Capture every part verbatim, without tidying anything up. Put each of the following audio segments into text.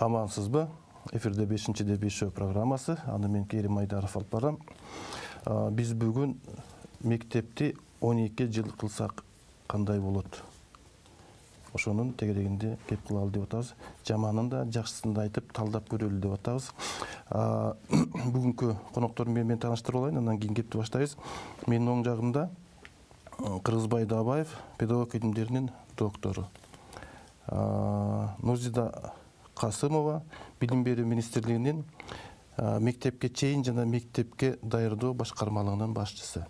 Амансызбы? Эфирде бешинчи Дебешо программасы. Аны мен Керим Айдаров алып барам. Биз бүгүн мектепти он эки жыл кылсак кандай болот? Ошонун тегерегинде кеп кылалы деп атабыз. Жаманын да, жакшысын да айтып, талдап көрөлү деп атабыз. Бүгүнкү коноктор менен тааныштырып алайын, андан кийин кепти баштайбыз. Менин оң жагымда Кыргызбай Дабаев, педагог илимдеринин доктору. Нурзида Касымова, Билим берүү министрлигинин мектепке чейин жана мектепке даярдоо башкармалыгынын башчысы.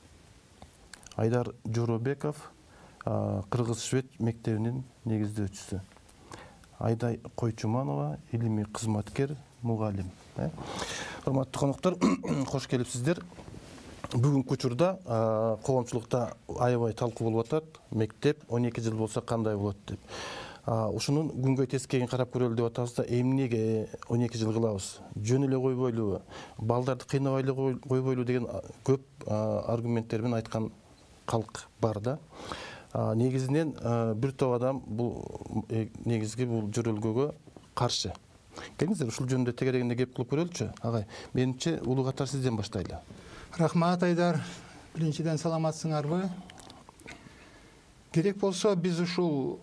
Айдар Жоробеков, Кыргыз-Швед мектебинин негиздөөчүсү. Айдай Койчуманова, илимий кызматкер, мугалим. Урматтуу коноктор, кош келипсиздер. Бүгүнкү учурда коомчулукта аябай талкуу болуп атат. Мектеп он эки жыл болсо кандай болот деп. Ушунун күнгөй тескейин карап көрөлү деп атабыз да, эмнеге он эки жыл кылабыз? Жөн эле койбойлубу? Балдарды кыйнабай эле койбойлу деген көп аргументтер менен айткан калк бар да. Негизинен бир топ адам бул негизги бул жөрөлгөгө каршы. Келиңиздер ушул жөнүндө тегерегинде кеп кылып көрөлүчү. Агай, менимче улуу катар сизден баштайлы. Рахмат, Айдар. Биринчиден саламатсыңарбы? Керек болсо биз ушул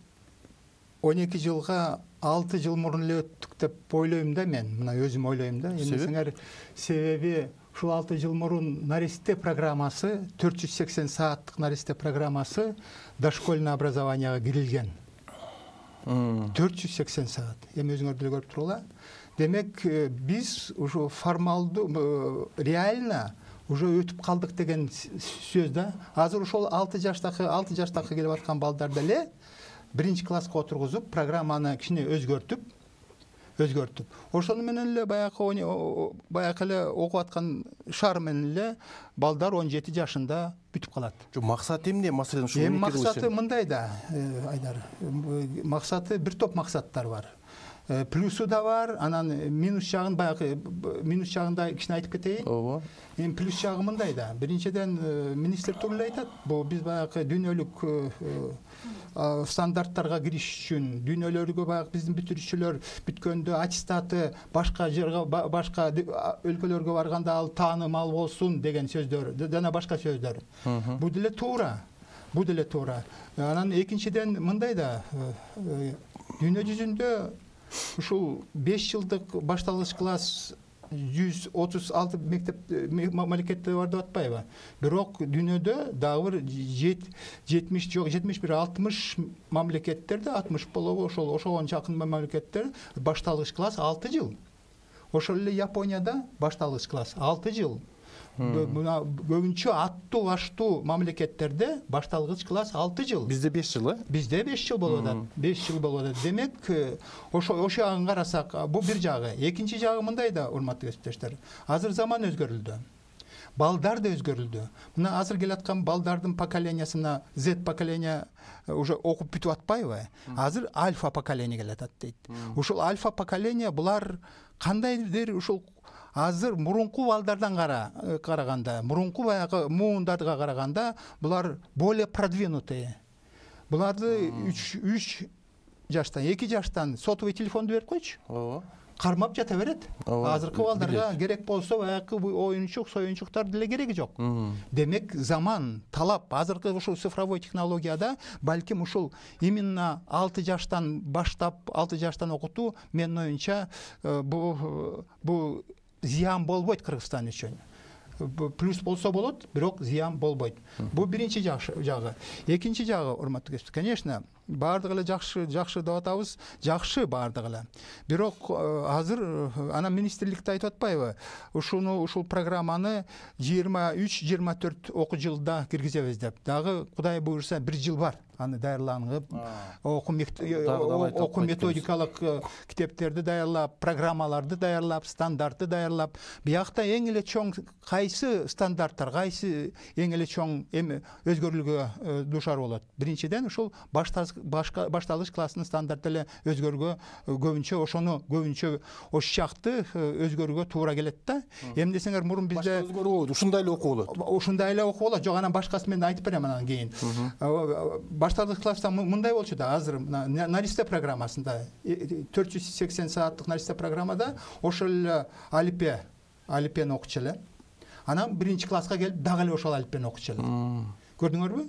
он эки жылга алты жыл мурун эле өттүк деп ойлойм да мен. Мына өзүм ойлойм да. Эмнесиңер себеби ушул алты жыл мурун наристе программасы, төрт жүз сексен сааттык наристе программасы дошкольный образованияга кирилген. төрт жүз сексен саат. Эми өзүңөр деле көрүп туруңар. Демек, биз ушу формалдуу, реально уже өтүп калдык деген сөз да. Азыр ошол алты жаштагы, алты жаштагы келип аткан балдар деле биринчи класска отургузуп, программаны кичине өзгөртүп, өзгөртүп. Ошону менен эле баягы баягы эле окуп аткан шаар менен эле балдар он жети жашында бүтүп калат. Жок, максат эмне? Маселен ушул эми максаты мындай да, Айдар. Максаты бир топ максаттар бар. Плюсу да бар, анан минус жагын баягы минус жагында кичине айтып кетейин. Ооба. Эми плюс жагы мындай да. Биринчиден министр туралы айтат. Бул биз баягы дүйнөлүк стандарттарга кириш үчүн, дүйнөлөргө баягы биздин бүтүрүүчүлөр бүткөндө аттестаты башка жерге, башка өлкөлөргө барганда ал таанымал болсун деген сөздөр, жана башка сөздөр. Бул деле туура. Бул деле туура. Анан экинчиден мындай да, дүйнө жүзүндө ушул беш жылдык башталгыч класс жүз отуз алты мектеп мамлекетте бар деп атпайбы? Бирок дүйнөдө дагы бир жетимиш жок, жетимиш бир алтымыш мамлекеттерде, алтымыш болобу, ошол ошого жакын мамлекеттер башталгыч класс алты жыл. Ошол эле Японияда башталгыч класс алты жыл. Мына көбүнчө аттуу баштуу мамлекеттерде башталгыч класс алты жыл. Бизде беш жыл, э? Бизде беш жыл болуп атат. беш жыл болуп атат. Демек, ошо ошо жагын карасак, бул бир жагы. Экинчи жагы мындай да, урматтуу кесиптештер. Азыр заман өзгөрүлдү. Балдар да өзгөрүлдү. Мына азыр келаткан балдардын поколениясына Z поколения уже окуп бүтүп атпайбы? Азыр альфа поколения келатат дейт. Ушул альфа поколения булар кандайдыр ушул азыр мурунку балдардан караганда, мурунку баягы муундарга караганда булар более продвинутые. Буларды үч жаштан, эки жаштан сотовый телефонду берип койчу. Ооба. Кармап жата берет. Азыркы балдарга керек болсо баягы оюнчук, союнчуктар деле кереги жок. Демек, заман, талап, азыркы ушул цифровой технологияда балким ушул именно алты жаштан баштап, алты жаштан окутуу менин оюнча бу бу зыян болбойт Кыргызстан үчүн. Плюс болсо болот, бирок зыян болбойт. Бу биринчи жагы. Экинчи жагы, урматтуу кесиптештер, конечно, баардыгы эле жакшы, жакшы деп атабыз, жакшы баардыгы эле. Бирок азыр ана министрликте айтып атпайбы? Ушуну, ушул программаны жыйырма үч жыйырма төрт окуу жылда киргизебиз деп. Дагы Кудай буйрса бир жыл бар. Аны даярланып, окуу методикалык китептерди даярлап, программаларды даярлап, стандартты даярлап, биякта эң эле чоң кайсы стандарттар, кайсы эң эле чоң эми өзгөрүүлгө душар болот. Биринчиден ушул башталгыч башка башталыш классынын стандарты эле өзгөргө көбүнчө ошону көбүнчө ошол сыяктуу өзгөрүүгө туура келет да. Эми десеңер мурун бизде өзгөрүү болот, ушундай эле окуу болот. Ушундай эле окуу болот. Жок, анан башкасын мен айтып берем анан кийин. Башталыш класста мындай болчу да, азыр наристе программасында төрт жүз сексен сааттык наристе программада ошол эле алипе алипени окучу эле. Анан биринчи класска келип дагы эле ошол алипени окучу эле. Көрдүңөрбү?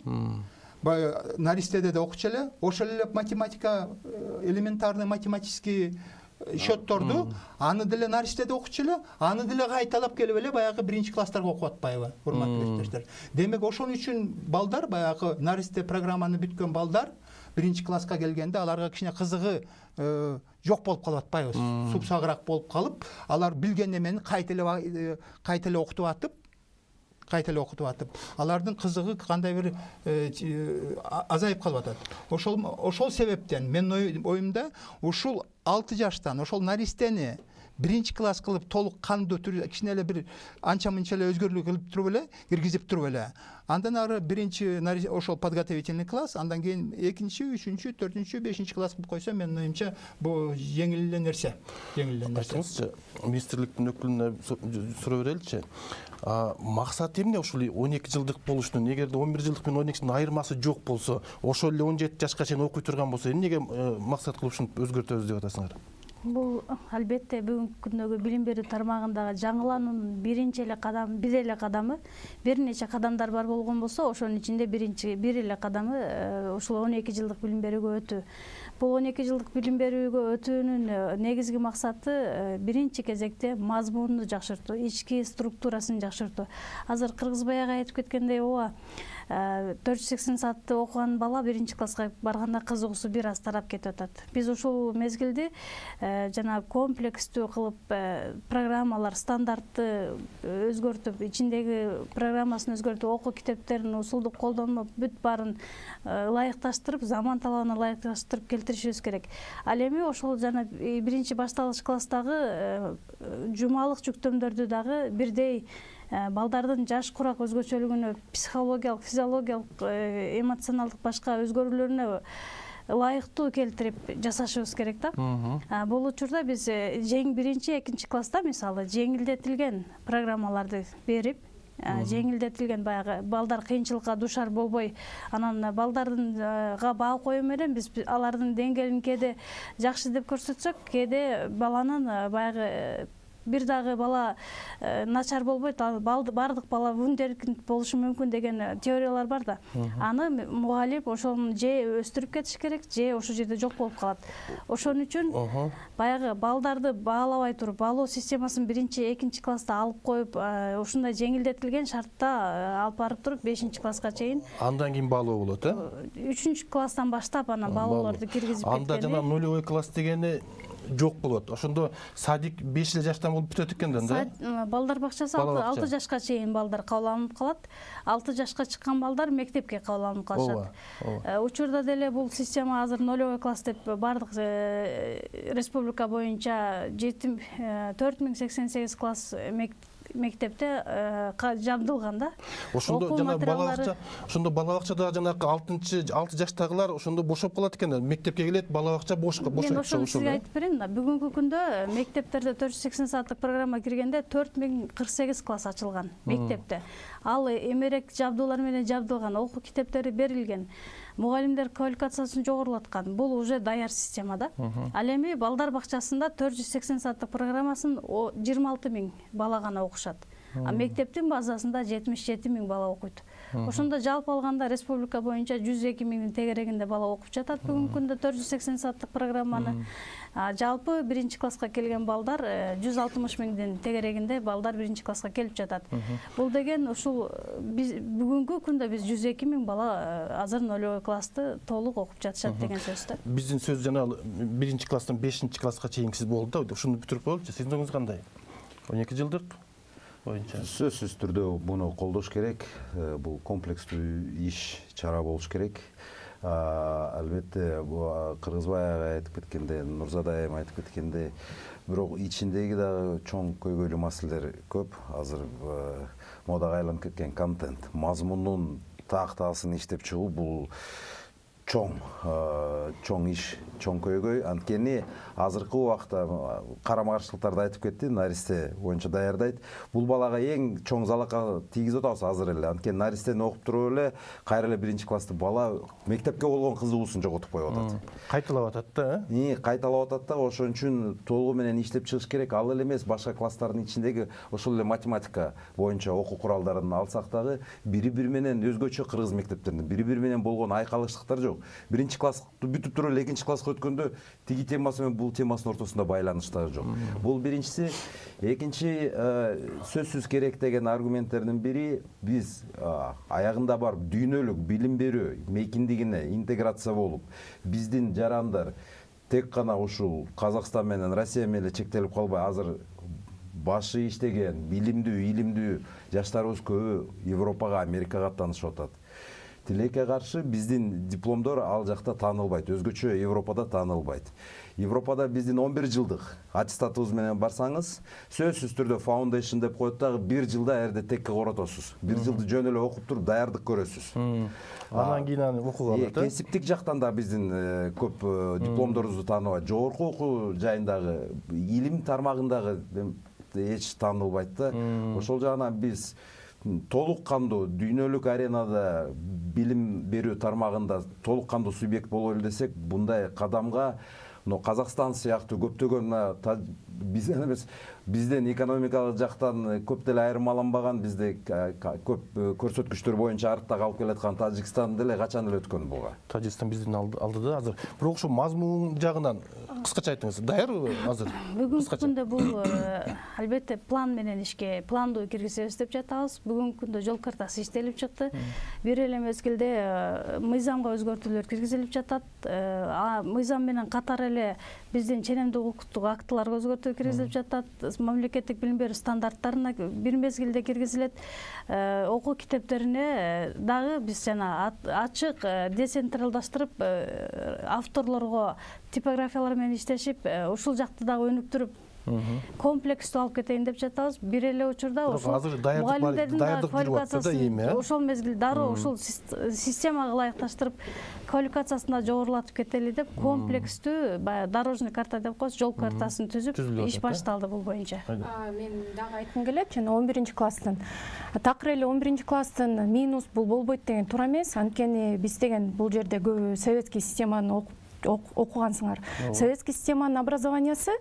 Баягы наристеде да окучу эле, ошол эле математика, элементарный математический счетторду аны деле наристеде окучу эле, аны деле кайталап келип эле баягы биринчи класстарга окуп атпайбы, урматтуу иптештер. Демек ошон үчүн балдар, баягы наристе программаны бүткөн балдар биринчи класска келгенде аларга кичине кызыгы жок болуп калып атпайбы, супсагыраак болуп калып, алар билген эмени кайта эле кайта эле окутуп атып, кайта эле окутуп атып, алардын кызыгы кандай бир азайып калып атат. Ошол ошол себептен менин оюмда ушул алты жаштан ошол наристени биринчи класс кылып толук кандуу түрдө кичине эле бир анча-мынча эле өзгөрүүлүк кылып туруп эле киргизип туруп эле андан ары биринчи ошол подготовительный класс, андан кийин экинчи, үчүнчү, төртүнчү, бешинчи класс кылып койсо менин оюмча бул жеңил эле нерсе. Жеңил эле нерсе. Айтыңызчы, министрликтин өкүлүнө суроо береличи. Максаты эмне ушул он эки жылдык болуштун? Эгерде он бир жылдык менен он экинчинин айырмасы жок болсо, ошол эле он жети жашка чейин окуй турган болсо, эмнеге максат кылып ушуну өзгөртөбүз деп атасыңар? Бул албетте бүгүнкү күндөгү билим берүү тармагындагы жаңылануунун биринчи эле кадам, бир эле кадамы, бир нече кадамдар бар болгон болсо, ошонун ичинде биринчи бир эле кадамы ушул он эки жылдык билим берүүгө өтүү. Бул он эки жылдык билим берүүгө өтүүнүн негизги максаты биринчи кезекте мазмунду жакшыртуу, ички структурасын жакшыртуу. Азыр Кыргызбай ага айтып кеткендей, ооба, төрт жүз сексен саатты окуган бала биринчи класска барганда кызыгуусу бир аз тарап кетип атат. Биз ушул мезгилди жана комплекстүү кылып программалар, стандартты өзгөртүп, ичиндеги программасын өзгөртүп, окуу китептерин усулдук колдонмо бүт баарын ылайыкташтырып, заман талабына ылайыкташтырып келтиришибиз керек. Ал эми ошол жана биринчи башталыш класстагы жумалык жүктөмдөрдү дагы бирдей балдардын жаш курак өзгөчөлүгүнө, психологиялык, физиологиялык, эмоционалдык башка өзгөрүүлөрүнө ылайыктуу келтирип жасашыбыз керек да. Бул учурда биз жең биринчи, экинчи класста мисалы жеңилдетилген программаларды берип, жеңилдетилген баягы балдар кыйынчылыкка душар болбой, анан балдардынга баа коюу менен биз алардын деңгээлин кээде жакшы деп көрсөтсөк, кээде баланын баягы бир дагы бала начар болбойт, баардык бала вундеркинд болушу мүмкүн деген теориялар бар да. Аны мугалим ошону же өстүрүп кетиш керек, же ошол жерде жок болуп калат. Ошон үчүн баягы балдарды баалабай туруп, баалоо системасын биринчи, экинчи класста алып коюп, ушундай жеңилдетилген шартта алып барып туруп бешинчи класска чейин. Андан кийин баалоо болот, э? үчүнчү класстан баштап анан баалоолорду киргизип кеткени. Анда жана нулевой класс дегени жок болот. Ошондо садик беш эле жаштан болуп бүтөт экенден да. Балдар бакчасы алты жашка чейин балдар кабыл алынып калат. алты жашка чыккан балдар мектепке кабыл алынып калышат. Учурда деле бул система азыр нулевой класс деп бардык республика боюнча төрт миң сексен сегиз класс мектепте жабдылган да. Ошондо жана бала бакча, ошондо бала бакчада жанагы алтынчы алты жаштагылар ошондо бошоп калат экен. Мектепке келет, бала бакча бош бошойт. Мен ошону сизге айтып берейин да. Бүгүнкү күндө мектептерде төрт жүз сексен сааттык программа киргенде төрт миң кырк сегиз класс ачылган мектепте. Ал эмерек жабдуулар менен жабдылган, окуу китептери берилген. Мугалимдер квалификациясын жогорулаткан. Бул уже даяр система да. Ал эми балдар бакчасында төрт жүз сексен сааттык программасын жыйырма алты миң бала гана окушат. А мектептин базасында жетимиш жети миң бала окуйт. Ошондо жалпы алганда республика боюнча жүз эки миңдин тегерегинде бала окуп жатат бүгүнкү күндө төрт жүз сексен сааттык программаны. Жалпы биринчи класска келген балдар жүз алтымыш миңдин тегерегинде балдар биринчи класска келип жатат. Бул деген ушул биз бүгүнкү күндө биз жүз эки миң бала азыр нулевой классты толук окуп жатышат деген сөз да. Биздин сөз жана биринчи класстан бешинчи класска чейинкиси болду да. Ушуну бүтүрүп болчу. Сиздин оюңуз кандай? он эки жылдык боюнча. Сөзсүз түрдө буну колдош керек. Бул комплекстүү иш, чара болуш керек. Албетте Кыргызбай ага айтып кеткенде, Нурзада айым айтып кеткенде, бирок ичиндеги дагы чоң көйгөйлүү маселелер көп. Азыр модага айланып кеткен контент, мазмунун тактаасын иштеп чыгуу бул чоң чоң иш, чоң көйгөй. Анткени азыркы убакта карама каршылыктарды айтып кетти, наристе боюнча даярдайт. Бул балага эң чоң залака тийгизип атабыз азыр эле. Анткени наристени окуп туруп эле кайра эле биринчи класста бала мектепке болгон кызыгуусун жоготуп коюп атат. Кайталап атат да, э? Кайталап атат да, ошон үчүн толугу менен иштеп чыгыш керек. Ал эле эмес, башка класстардын ичиндеги ошол эле математика боюнча окуу куралдарын алсак дагы бири-бири менен өзгөчө кыргыз мектептеринде бири-бири менен болгон айкалыштыктар жок. Биринчи классты бүтүп туруп эле экинчи класска өткөндө тиги темасы менен бул темасынын ортосунда байланыш дагы жок. Бул биринчиси. Экинчи, сөзсүз керек деген аргументтердин бири, биз аягында бар дүйнөлүк билим берүү мейкиндигине интеграция болуп, биздин жарандар тек гана ушул Казакстан менен Россия менен чектелип калбай, азыр башы иштеген, билимдүү, илимдүү жаштарыбыз көбү Европага, Америкага аттанышып атат. Тилекке каршы биздин дипломдор ал жакта таанылбайт, өзгөчө Европада таанылбайт. Европада биздин он бир жылдык аттестатыбыз менен барсаңыз, сөзсүз түрдө foundation деп коет дагы, бир жылда эрде текке коротосуз. Бир жылды жөн эле окуп туруп даярдык көрөсүз. Анан кийин аны окууга алат. Кесиптик жактан да биздин көп дипломдорубузду тааныбайт. Жогорку окуу жайындагы, илим тармагындагы эч таанылбайт да. Ошол жагынан биз толук кандуу дүйнөлүк аренада билим берүү тармагында толук кандуу субъект бололу десек, bunday кадамга Казакстан сыяктуу көптөгөн бизден эмес, бизден экономикалык жактан көп деле айырмаланбаган, бизде көп көрсөткүчтөр боюнча артта калып келаткан Тажикстан деле качан эле өткөн буга. Тажикстан биздин алдыда азыр. Бирок ошо мазмун жагынан кыскача айтыңыз. Даярбы азыр? Бүгүнкү күндө бул албетте план менен ишке, планды киргизебиз деп жатабыз. Бүгүнкү күндө жол картасы иштелип чыкты. Бир эле мезгилде мыйзамга өзгөртүүлөр киргизилип жатат. Мыйзам менен катар эле биздин ченемдик укуктук актыларга өзгөртүү киргизилип жатат. Мамлекеттик билим берүү стандарттарына бир мезгилде киргизилет. Окуу китептерине дагы биз жана ачык децентралдаштырып, авторлорго типографиялар менен иштешип, ушул жакты дагы өнүктүрүп комплекстүү алып кетейин деп жатабыз. Бир эле учурда ошол мугалимдердин квалификациясын ошол мезгилде дароо ушул системага ылайыкташтырып, квалификациясын жогорулатып кетели деп комплекстүү баягы дорожный карта деп коебуз, жол картасын түзүп иш башталды бул боюнча. Мен дагы айткым келет, жана он биринчи класстын такыр эле он биринчи класстын минус бул болбойт деген туура эмес. Анткени биз деген бул жерде көбү советский системаны окуп окугансыңар. Советский системанын образованиясы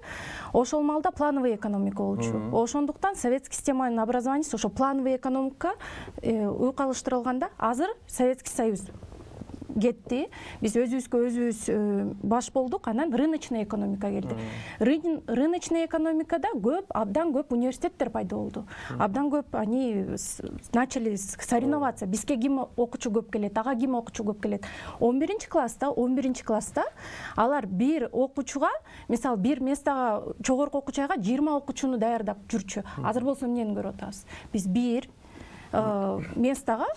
ошол малда плановый экономика болчу. Ошондуктан советский системанын образованиясы ошо плановый экономика уйкалыштырылганда, азыр Советский Союз кетти. Биз өзүбүзгө өзүбүз баш болдук, анан рыночный экономика келди. Рыночный экономикада көп, абдан көп университеттер пайда болду. Абдан көп они начали соревноваться. Бизге ким окуучу көп келет, ага ким окуучу көп келет. он биринчи класста, он биринчи класста алар бир окуучуга, мисалы бир местага жогорку окуучуга жыйырма окуучуну даярдап жүрчү. Азыр болсо эмнени көрүп атабыз? Биз бир местага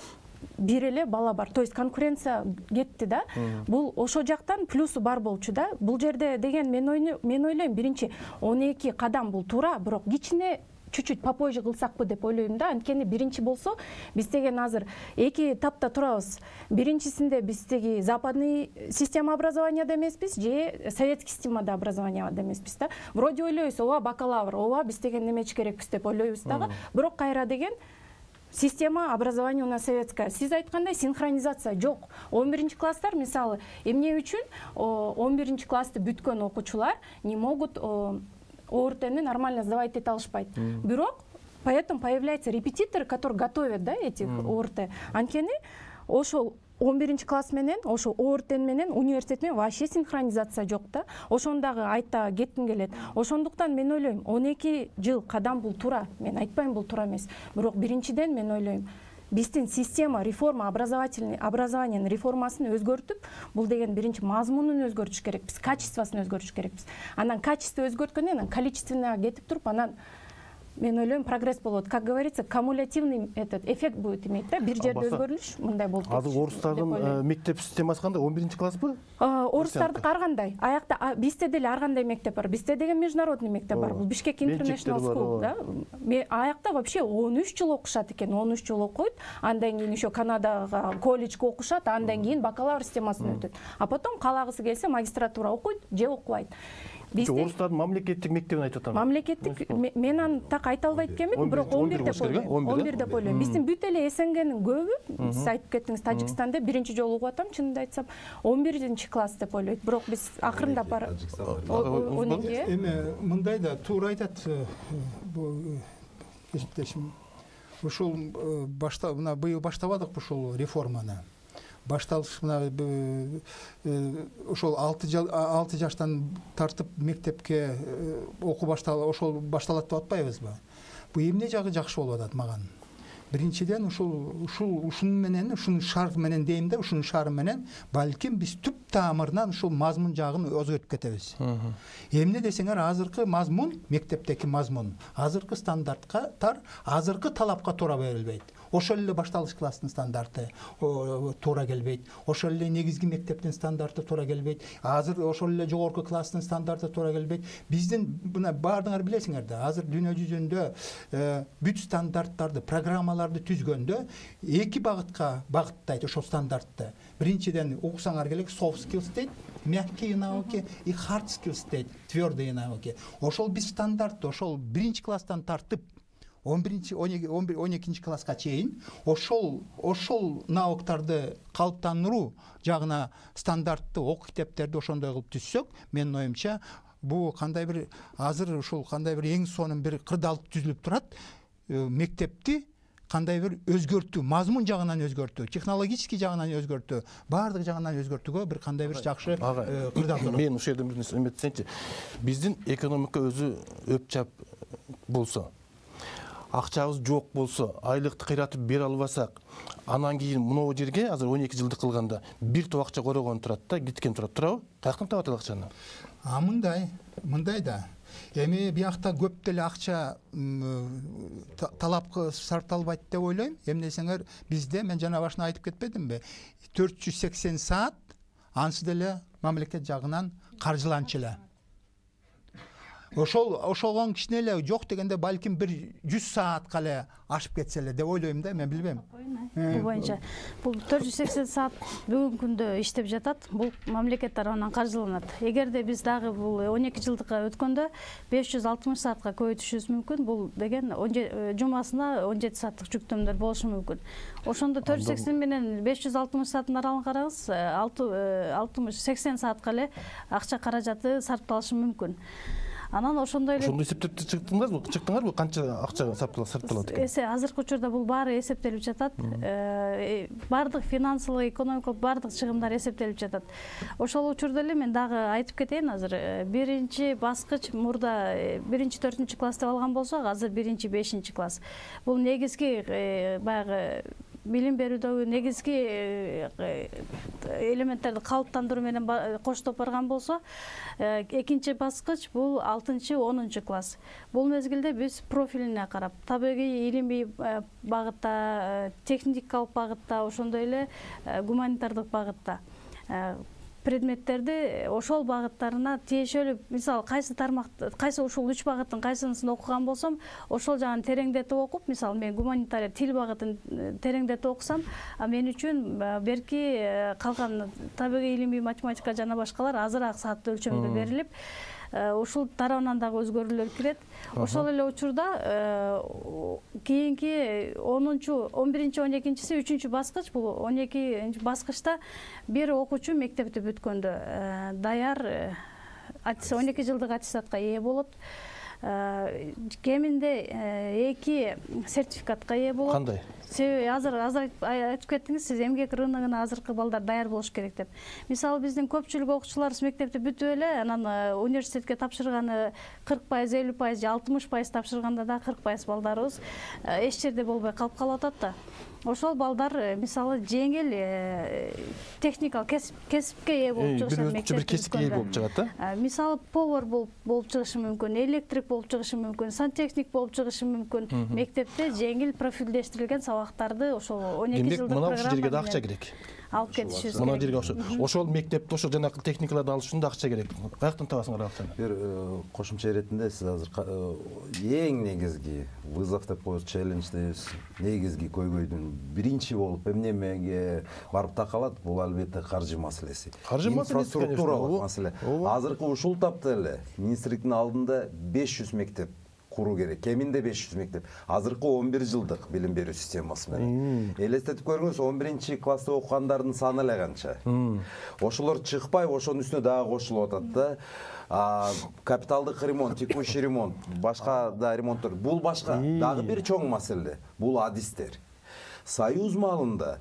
бир эле бала бар. То есть конкуренция кетти да. Бул ошо жактан плюсу бар болчу да. Бул жерде деген мен мен ойлойм, биринчи он эки кадам бул туура, бирок кичине чуть-чуть попозже кылсакпы деп ойлойм да. Анткени биринчи болсо, биз деген азыр эки тапта турабыз. Биринчисинде биз теги западный система образованияда эмеспиз, же советский системада образованияда эмеспиз да. Вроде ойлойбуз, ооба бакалавр, ооба биз деген немечи керекпиз деп ойлойбуз дагы. Бирок кайра деген система образования у нас советская. Сиз айткандай синхронизация жок. он биринчи класстар, мисалы, эмне үчүн он биринчи классты бүткөн окуучулар не могут ОРТ-ны нормально сдавать эте алышпайт. Бирок поэтому появляются репетиторы, которые готовят, да, этих ОРТ. Анткени ошол он биринчи класс менен, ошо ОРТ менен университет менен вообще синхронизация жок да. Ошондагы айта кетким келет. Ошондуктан мен ойлойм, он эки жыл кадам бул туура. Мен айтпайм бул туура эмес. Бирок биринчиден мен ойлойм, биздин система реформа образовательный образованиянын реформасын өзгөртүп, бул деген биринчи мазмунун өзгөртүш керекпиз, качествосын өзгөртүш керекпиз. Анан качество өзгөрткөндөн анан количественныйга кетип туруп, анан мен ойлойм прогресс болот. Как говорится, кумулятивный этот эффект будет иметь, да, бир жерде өзгөрүлүш мындай болуп кетиш. Азыр орустардын мектеп системасы кандай? он биринчи класспы? Орустардыкы ар кандай. Аякта бизде деле ар кандай мектеп бар. Бизде деген международный мектеп бар. Бул Бишкек International School, да. Аякта вообще он үч жыл окушат экен, он үч жыл окуйт. Андан кийин еще Канадага колледжге окушат, андан кийин бакалавр системасына өтөт. А потом каалагысы келсе магистратура окуйт же окубайт. Орустардын мамлекеттик мектебин айтып атам. Мамлекеттик мен аны так айта албайт экенмин, бирок он бир деп ойлойм. он бир деп ойлойм. Биздин бүт эле СНГнин көбү, сиз айтып кеттиңиз, Тажикстанда биринчи жолу угуп атам, чынымды айтсам, он биринчи класс деп ойлойт. Бирок биз акырындап барып он эки. Эми мындай да туура айтат бул кесиптешим. Ушул башта мына быйыл баштабадыкпы ушул реформаны. Башталыш мына ошол алты жаштан тартып мектепке окуу башталып ошол башталат деп атпайбызбы? Бул эмне жагы жакшы болуп атат маган? Биринчиден ушул ушул ушунун менен, ушунун шарт менен дейм да, ушунун шары менен балким биз түп тамырынан ушул мазмун жагын өзгөртүп кетебиз. Эмне десеңер, азыркы мазмун, мектептеки мазмун, азыркы стандарттар, азыркы талапка туура берилбейт. Ошол эле башталыш класстын стандарты туура келбейт. Ошол эле негизги мектептин стандарты туура келбейт. Азыр ошол эле жогорку класстын стандарты туура келбейт. Биздин мына баардыгыңар билесиңер да, азыр дүйнө жүзүндө бүт стандарттарды, программаларды түзгөндө эки багытка багыттайт ошол стандартты. Биринчиден окусаңар керек soft skills дейт, мягкие науки, и hard skills дейт, твёрдые науки. Ошол биз стандартты ошол биринчи класстан тартып он биринчи он экинчи класска чейин ошол ошол навыктарды калыптандыруу жагына стандартты окуу китептерди ошондой кылып түзсөк, менин оюмча бул кандай бир азыр ушул кандай бир эң сонун бир кырдаалык түзүлүп турат. Мектепти кандай бир өзгөртүү, мазмун жагынан өзгөртүү, технологический жагынан өзгөртүү, баардык жагынан өзгөртүүгө бир кандай бир жакшы кырдаал. Мен ушул жерден бир нерсе эметсеңчи, биздин экономика өзү өпчап болсо, акчабыз жок болсо, айлыкты кыйратып бере албасак, анан кийин мынау жерге азыр он эки жылдык кылганда бир топ акча корогон турат да, кеткен турат, туурабы? Каяктан табат акчаны? А мындай, мындай да. Эми биякта көп деле акча талапка сарпталбайт деп ойлойм. Эмне десеңер, бизде мен жана башына айтып кетпедимби? төрт жүз сексен саат ансы деле мамлекет жагынан каржыланчу эле. Ошол ошолгон кичине эле жок дегенде балким бир жүз саатка эле ашып кетсе эле деп ойлойм да, мен билбейм. Бул боюнча бул төрт жүз сексен саат бүгүнкү күндө иштеп жатат, бул мамлекет тарабынан каржыланат. Эгерде биз дагы бул он эки жылдыкка өткөндө беш жүз алтымыш саатка көбөйтүшүбүз мүмкүн. Бул деген жумасына он жети сааттык жүктөмдөр болушу мүмкүн. Ошондо төрт жүз сексен менен беш жүз алтымыш сааттын аралыгын караңыз, алтымыш сексен саатка эле акча каражаты сарпталышы мүмкүн. Анан ошондой эле ошондой эсептеп чыктыңарбы? Чыктыңарбы? Канча акча сарпталат экен? Эсе азыркы учурда бул баары эсептелип жатат. Баардык финансылык, экономикалык баардык чыгымдар эсептелип жатат. Ошол учурда эле мен дагы айтып кетейин, азыр биринчи баскыч мурда биринчи төртүнчү класс деп алган болсок, азыр биринчи бешинчи класс. Бул негизги баягы билим берүүдөгү негизги элементтерди калыптандыруу менен коштоп барган болсо, экинчи баскыч бул алтынчы онунчу класс. Бул мезгилде биз профилине карап, табигый илимий багытта, техникалык багытта, ошондой эле гуманитардык багытта предметтерди ошол багыттарына тиешелүү, мисалы кайсы тармак, кайсы ушул үч багыттын кайсынысын окуган болсом, ошол жагын тереңдетип окуп, мисалы мен гуманитария тил багытын тереңдетип окусам, мен үчүн берки калган табигый илимий, математика жана башкалар азыраак саат өлчөмдө берилип, ушул тарабынан дагы өзгөрүүлөр кирет. Ошол эле учурда кийинки онунчу, он биринчи, он экинчиси, үчүнчү баскыч, бул он экинчи баскычта бир окуучу мектепти бүткөндө даяр он эки жылдык аттестатка ээ болот. Кеминде эки сертификатка ээ болот. Кандай? Себеби азыр азыр айтып кеттиңиз, сиз эмгек рыногуна азыркы балдар даяр болуш керек деп. Мисалы биздин көпчүлүк окуучуларыбыз мектепти бүтүп эле, анан университетке тапшырганы кырк пайыз, элүү пайыз же алтымыш пайыз тапшырганда да кырк пайыз балдарыбыз эч жерде болбой калып калып атат да. ошол балдар мисалы жеңил техникалык кесипке ээ болуп чыгышат. Бир бир кесипке ээ болуп чыгат да. Мисалы повар болуп болуп чыгышы мүмкүн, электрик болуп чыгышы мүмкүн, сантехник болуп чыгышы мүмкүн. Мектепте жеңил профилдештирилген сабактарды ошол он эки жылдык программа. Демек, мына ушул жерге да акча керек. Алып кетишибиз керек. Мына жерге ошол ошол мектепте ошол жанагы техникаларды алыш үчүн да акча керек. Каяктан табасыңар акчаны? Бир кошумча иретинде сиз азыр эң негизги вызов деп коебуз, челлендж дейбиз. Негизги көйгөйдүн биринчи болуп эмнемеге барып такалат, бул албетте каржы маселеси. Каржы маселеси, инфраструктуралык маселе. Азыркы ушул тапта эле министрликтин алдында беш жүз мектеп куруу керек. Кеминде беш жүз мектеп. Азыркы он бир жылдык билим берүү системасы менен. Элестетип көрүңүз, он биринчи класста окугандардын саны эле канча. Ошолор чыкпай, ошонун үстүнө дагы кошулуп атат да. Капиталдык ремонт, текущий ремонт, башка да ремонттор. Бул башка дагы бир чоң маселе. Бул адистер. Союз маалында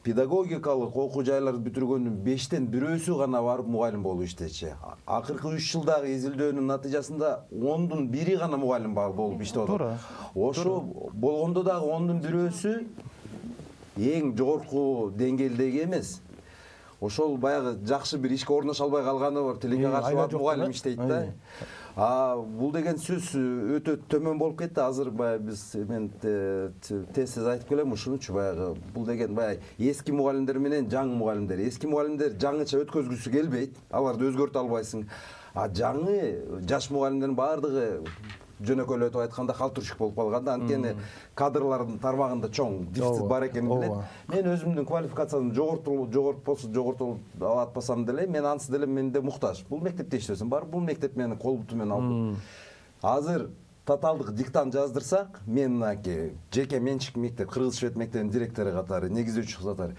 педагогикалык окуу жайларды бүтүргөндүн бештен бирөөсү гана барып мугалим болуп иштечи. Акыркы үч жылдагы изилдөөнүн натыйжасында ондун бири гана мугалим болуп иштеп атат. Ошо болгондо дагы ондун бирөөсү эң жогорку деңгээлдеги эмес. Ошол баягы жакшы бир ишке орношо албай калганы бар, тилекке каршы барып мугалим иштейт да. А бул деген сөз өтө төмөн болуп кетти. Азыр баягы биз мен тез айтып келем ушунучу, баягы бул деген баягы эски мугалимдер менен жаңы мугалимдер. Эски мугалимдер жаңыча өткөзгүсү келбейт, аларды өзгөртө албайсың. А жаңы жаш мугалимдердин баардыгы жөнөкөйлөтүп айтканда калтырышык болуп калган да. Анткени кадрлардын тармагында чоң дефицит бар экенин билет. Мен өзүмдүн квалификациямды жогортулуп жогортпосо жогортулуп атпасам деле, мен ансыз деле менде муктаж. Бул мектепте иштесем бар, бул мектеп мени кол буту менен алды. Азыр тоталдык диктант жаздырсак, мен мынакей жеке менчик мектеп, Кыргыз Швед мектебинин директору катары, негиздөөчү катары,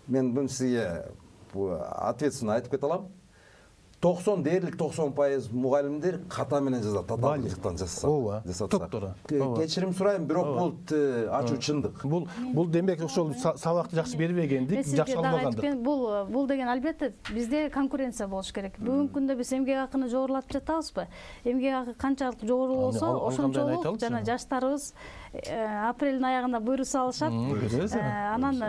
мен буну сизге ответственно айтып кете алам. токсон дээрлик токсон пайыз мугалимдер ката менен жазат, тоталдык диктант жасаса. Топтора. Кечирим сурайм, бирок бул ачуу чындык. Бул бул демек ошол сабакты жакшы бербегендик, жакшы албагандык. Бул бул деген албетте бизде конкуренция болуш керек. Бүгүнкү күндө биз эмгек акыны жогорулатып жатабызбы? Эмгек акы канчалык жогору болсо, ошончолук жана жаштарыбыз апрелдин аягында буйрук салышат. Анан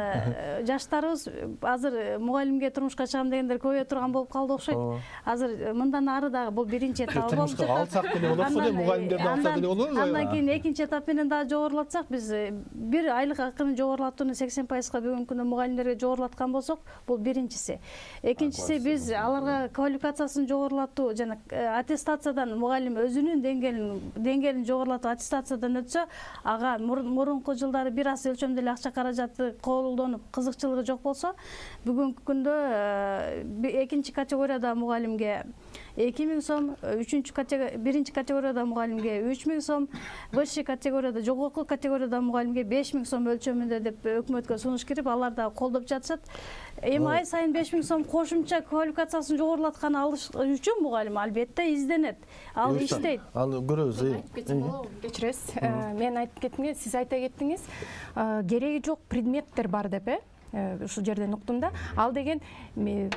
жаштарыбыз азыр мугалимге турмушка чыгам дегендер көбөйө турган болуп калды окшойт. Азыр мындан ары дагы бул биринчи этап болуп жатат. Алсак деле болот го, мугалимдерди алсак деле болобу? Андан кийин экинчи этап менен дагы жогорулатсак, биз бир айлык акыны жогорулатууну сексен пайызга бүгүнкү күндө мугалимдерге жогорулаткан болсок, бул биринчиси. Экинчиси, биз аларга квалификациясын жогорулатуу жана аттестациядан мугалим өзүнүн деңгээлин деңгээлин жогорулатып аттестациядан өтсө, ага мурунку жылдары бир аз өлчөмдө эле акча каражаты колдонуп, кызыкчылыгы жок болсо, бүгүнкү күндө экинчи категорияда мугалимге эки миң сом, үчүнчү категория, биринчи категорияда мугалимге үч миң сом, высший категорияда, жогорку категорияда мугалимге беш миң сом өлчөмүндө деп өкмөткө сунуш кирип, алар да колдоп жатышат. Эми ай сайын беш миң сом кошумча квалификациясын жогорулатканы алыш үчүн мугалим албетте изденет. Ал иштейт. Аны көрөбүз. Кечиресиз. Мен айтып кеттимге, сиз айта кеттиңиз, кереги жок предметтер бар деп, э? Ушул жерден уктум да. Ал деген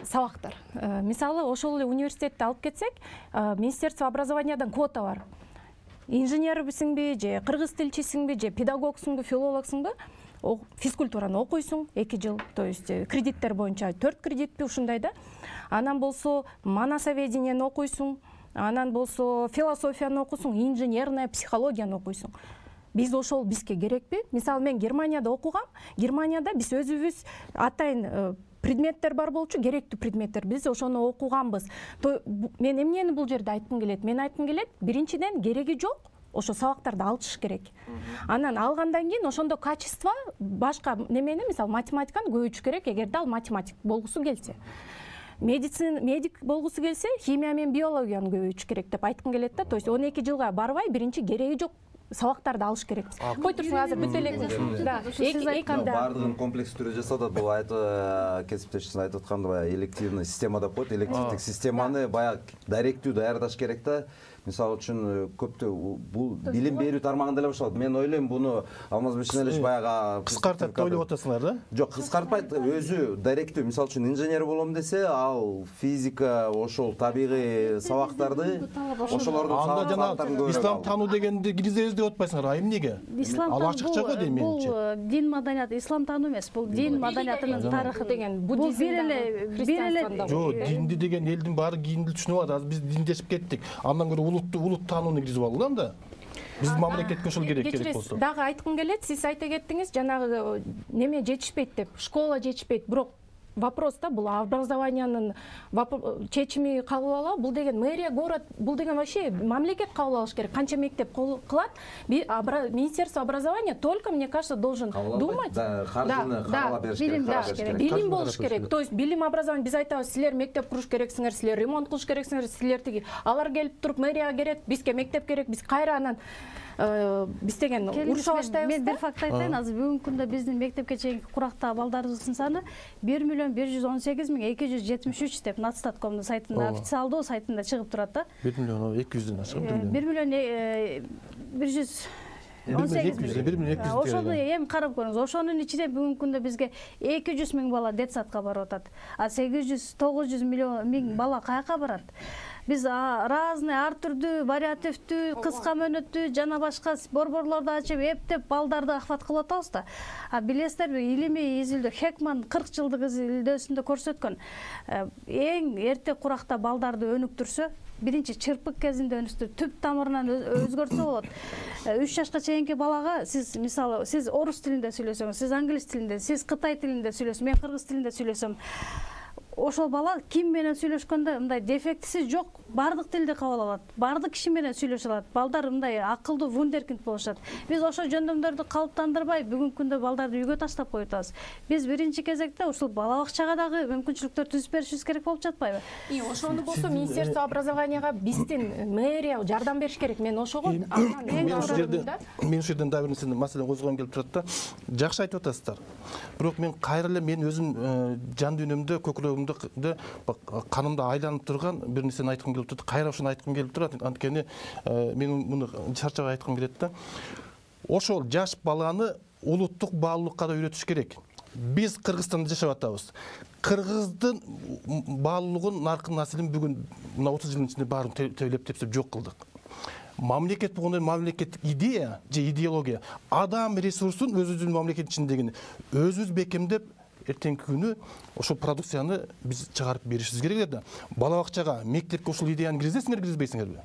сабактар. Мисалы, ошол эле университетти алып кетсек, Министерство образованиядан квота бар. Инженербисиңби, же кыргыз тилчисиңби, же педагогсуңбу, филологсуңбу, физкультураны окуйсуң эки жыл, то есть кредиттер боюнча төрт кредитпи ушундай да. Анан болсо манасоведениени окуйсуң, анан болсо философияны окуйсуң, инженерная психологияны окуйсуң. Биз ошол бизге керекпи? Мисалы, мен Германияда окугам. Германияда биз өзүбүз атайын предметтер бар болчу, керектүү предметтер. Биз ошону окуганбыз. Мен эмнени бул жерде айткым келет? Мен айткым келет, биринчиден кереги жок. Ошо сабактарды алышыш керек. Анан алгандан кийин ошондо качество башка немени, мисалы, математиканы көбөйтүш керек, эгерде ал математик болгусу келсе. Медицина, медик болгусу келсе, химия менен биологияны көбөйтүш керек деп айткым келет да. То есть он эки жылга барбай, биринчи кереги жок сабактарды алыш керекпиз. Кой турсуң, азыр бүт элек. Да, сиз айтканда бардыгын комплекс түрдө жасатат. Бул айтып кесиптешиңиз айтып атканда баягы элективный система деп коет. Элективдик системаны баягы даректүү даярдаш керек да. мисалы үчүн көптө бул билим берүү тармагында эле башталат. Мен ойлойм буну Алмаз Бешеналович баягы кыскартат деп ойлоп атасыңар да? Жок, кыскартпайт, өзү даректүү. Мисалы үчүн инженер болом десе, ал физика, ошол табигый сабактарды, ошолордун сабактарын көрөт. Ислам таануу дегенди киргизебиз деп атпайсыңар, айым эмнеге? Ал ачыкча го дейм менимче. Бул дин маданияты, ислам таануу эмес, бул дин маданиятынын тарыхы деген. Бул бир эле бир эле жок, динди деген элдин баары кийинди түшүнүп атат. Азыр биз диндешип кеттик. Андан көрө улутту улут таанууну киргизип алгыла анда. Биз мамлекетке ошол керек керек болсо. Дагы айткым келет, сиз айта кеттиңиз, жанагы неме жетишпейт деп, школа жетишпейт, бирок вопрос да, бул образованиянын чечими кабыл алуу, бул деген мэрия, город, бул деген вообще мамлекет кабыл алыш керек. Канча мектеп кылат, Министерство образования только, мне кажется, должен думать. Да, каржыны каралап бериш керек. Билим болуш керек. То есть билим образование, биз айтабыз, силер мектеп куруш керексиңер, силер ремонт кылыш керексиңер, силер тиги. Алар келип туруп мэрияга келет, бизге мектеп керек, биз кайра анан биз деген урушуп баштайбыз. Мен бир факт айтайын, азыр бүгүнкү күндө биздин мектепке чейинки курактагы балдарыбыздын саны бир миллион бир жүз он сегиз миң эки жүз жетимиш үч деп Натстаткомдун сайтында, официалдуу сайтында чыгып турат да. бир миллион эки жүздөн ашык. бир миллион бир жүз он сегиз миң. Ошону эми карап көрүңүз. Ошонун ичинде бүгүнкү күндө бизге эки жүз миң бала детсадка барып атат. А сегиз жүз тогуз жүз миң бала каяка барат? Биз разный, ар түрдүү, вариативдүү, кыска мөөнөттүү жана башка борборлорду ачып, эптеп балдарды ахват кылып атабыз да. А билесиздерби, илимий изилдөө Хекман кырк жылдык изилдөөсүндө көрсөткөн, эң эрте куракта балдарды өнүктүрсө, биринчи чырпык кезинде өнүктүрүп, түп тамырынан өзгөртсө болот. үч жашка чейинки балага сиз мисалы, сиз орус тилинде сүйлөсөңүз, сиз англис тилинде, сиз кытай тилинде сүйлөсөң, мен кыргыз тилинде сүйлөсөм, ошол бала ким менен сүйлөшкөндө мындай дефектиси жок, бардык тилди кабыл алат, бардык киши менен сүйлөшө алат. Балдар мындай акылдуу вундеркинд болушат. Биз ошол жөндөмдөрдү калыптандырбай, бүгүнкү күндө балдарды үйгө таштап коюп атабыз. Биз биринчи кезекте ушул бала бакчага дагы мүмкүнчүлүктөр түзүп беришибиз керек болуп жатпайбы? И ошону болсо Министерство образованияга биздин мэрия жардам бериш керек. Мен ошого мен ушул жерде мен ушул жерден дагы бир нерсени маселени козгогум келип турат да. Жакшы айтып атасыздар. Бирок мен кайра эле мен өзүм жан дүйнөмдө, көкүрөгүмдө канымда айланып турган бир нерсени айткым келип турат. Кайра ушуну айткым келип турат. Анткени мен муну чарчабай айткым келет да. Ошол жаш баланы улуттук баалуулукка да үйрөтүш керек. Биз Кыргызстанда жашап атабыз. Кыргыздын баалуулугун, наркын насилин бүгүн мына отуз жылдын ичинде баарын тейлеп тепсеп жок кылдык. Мамлекет болгондо мамлекеттик идея же идеология, адам ресурсун өзүбүздүн мамлекет ичиндегини өзүбүз бекемдеп, эртеңки күнү ошол продукцияны биз чыгарып беришибиз керек да. Бала бакчага, мектепке ушул идеяны киргизесиңер, киргизбейсиңерби?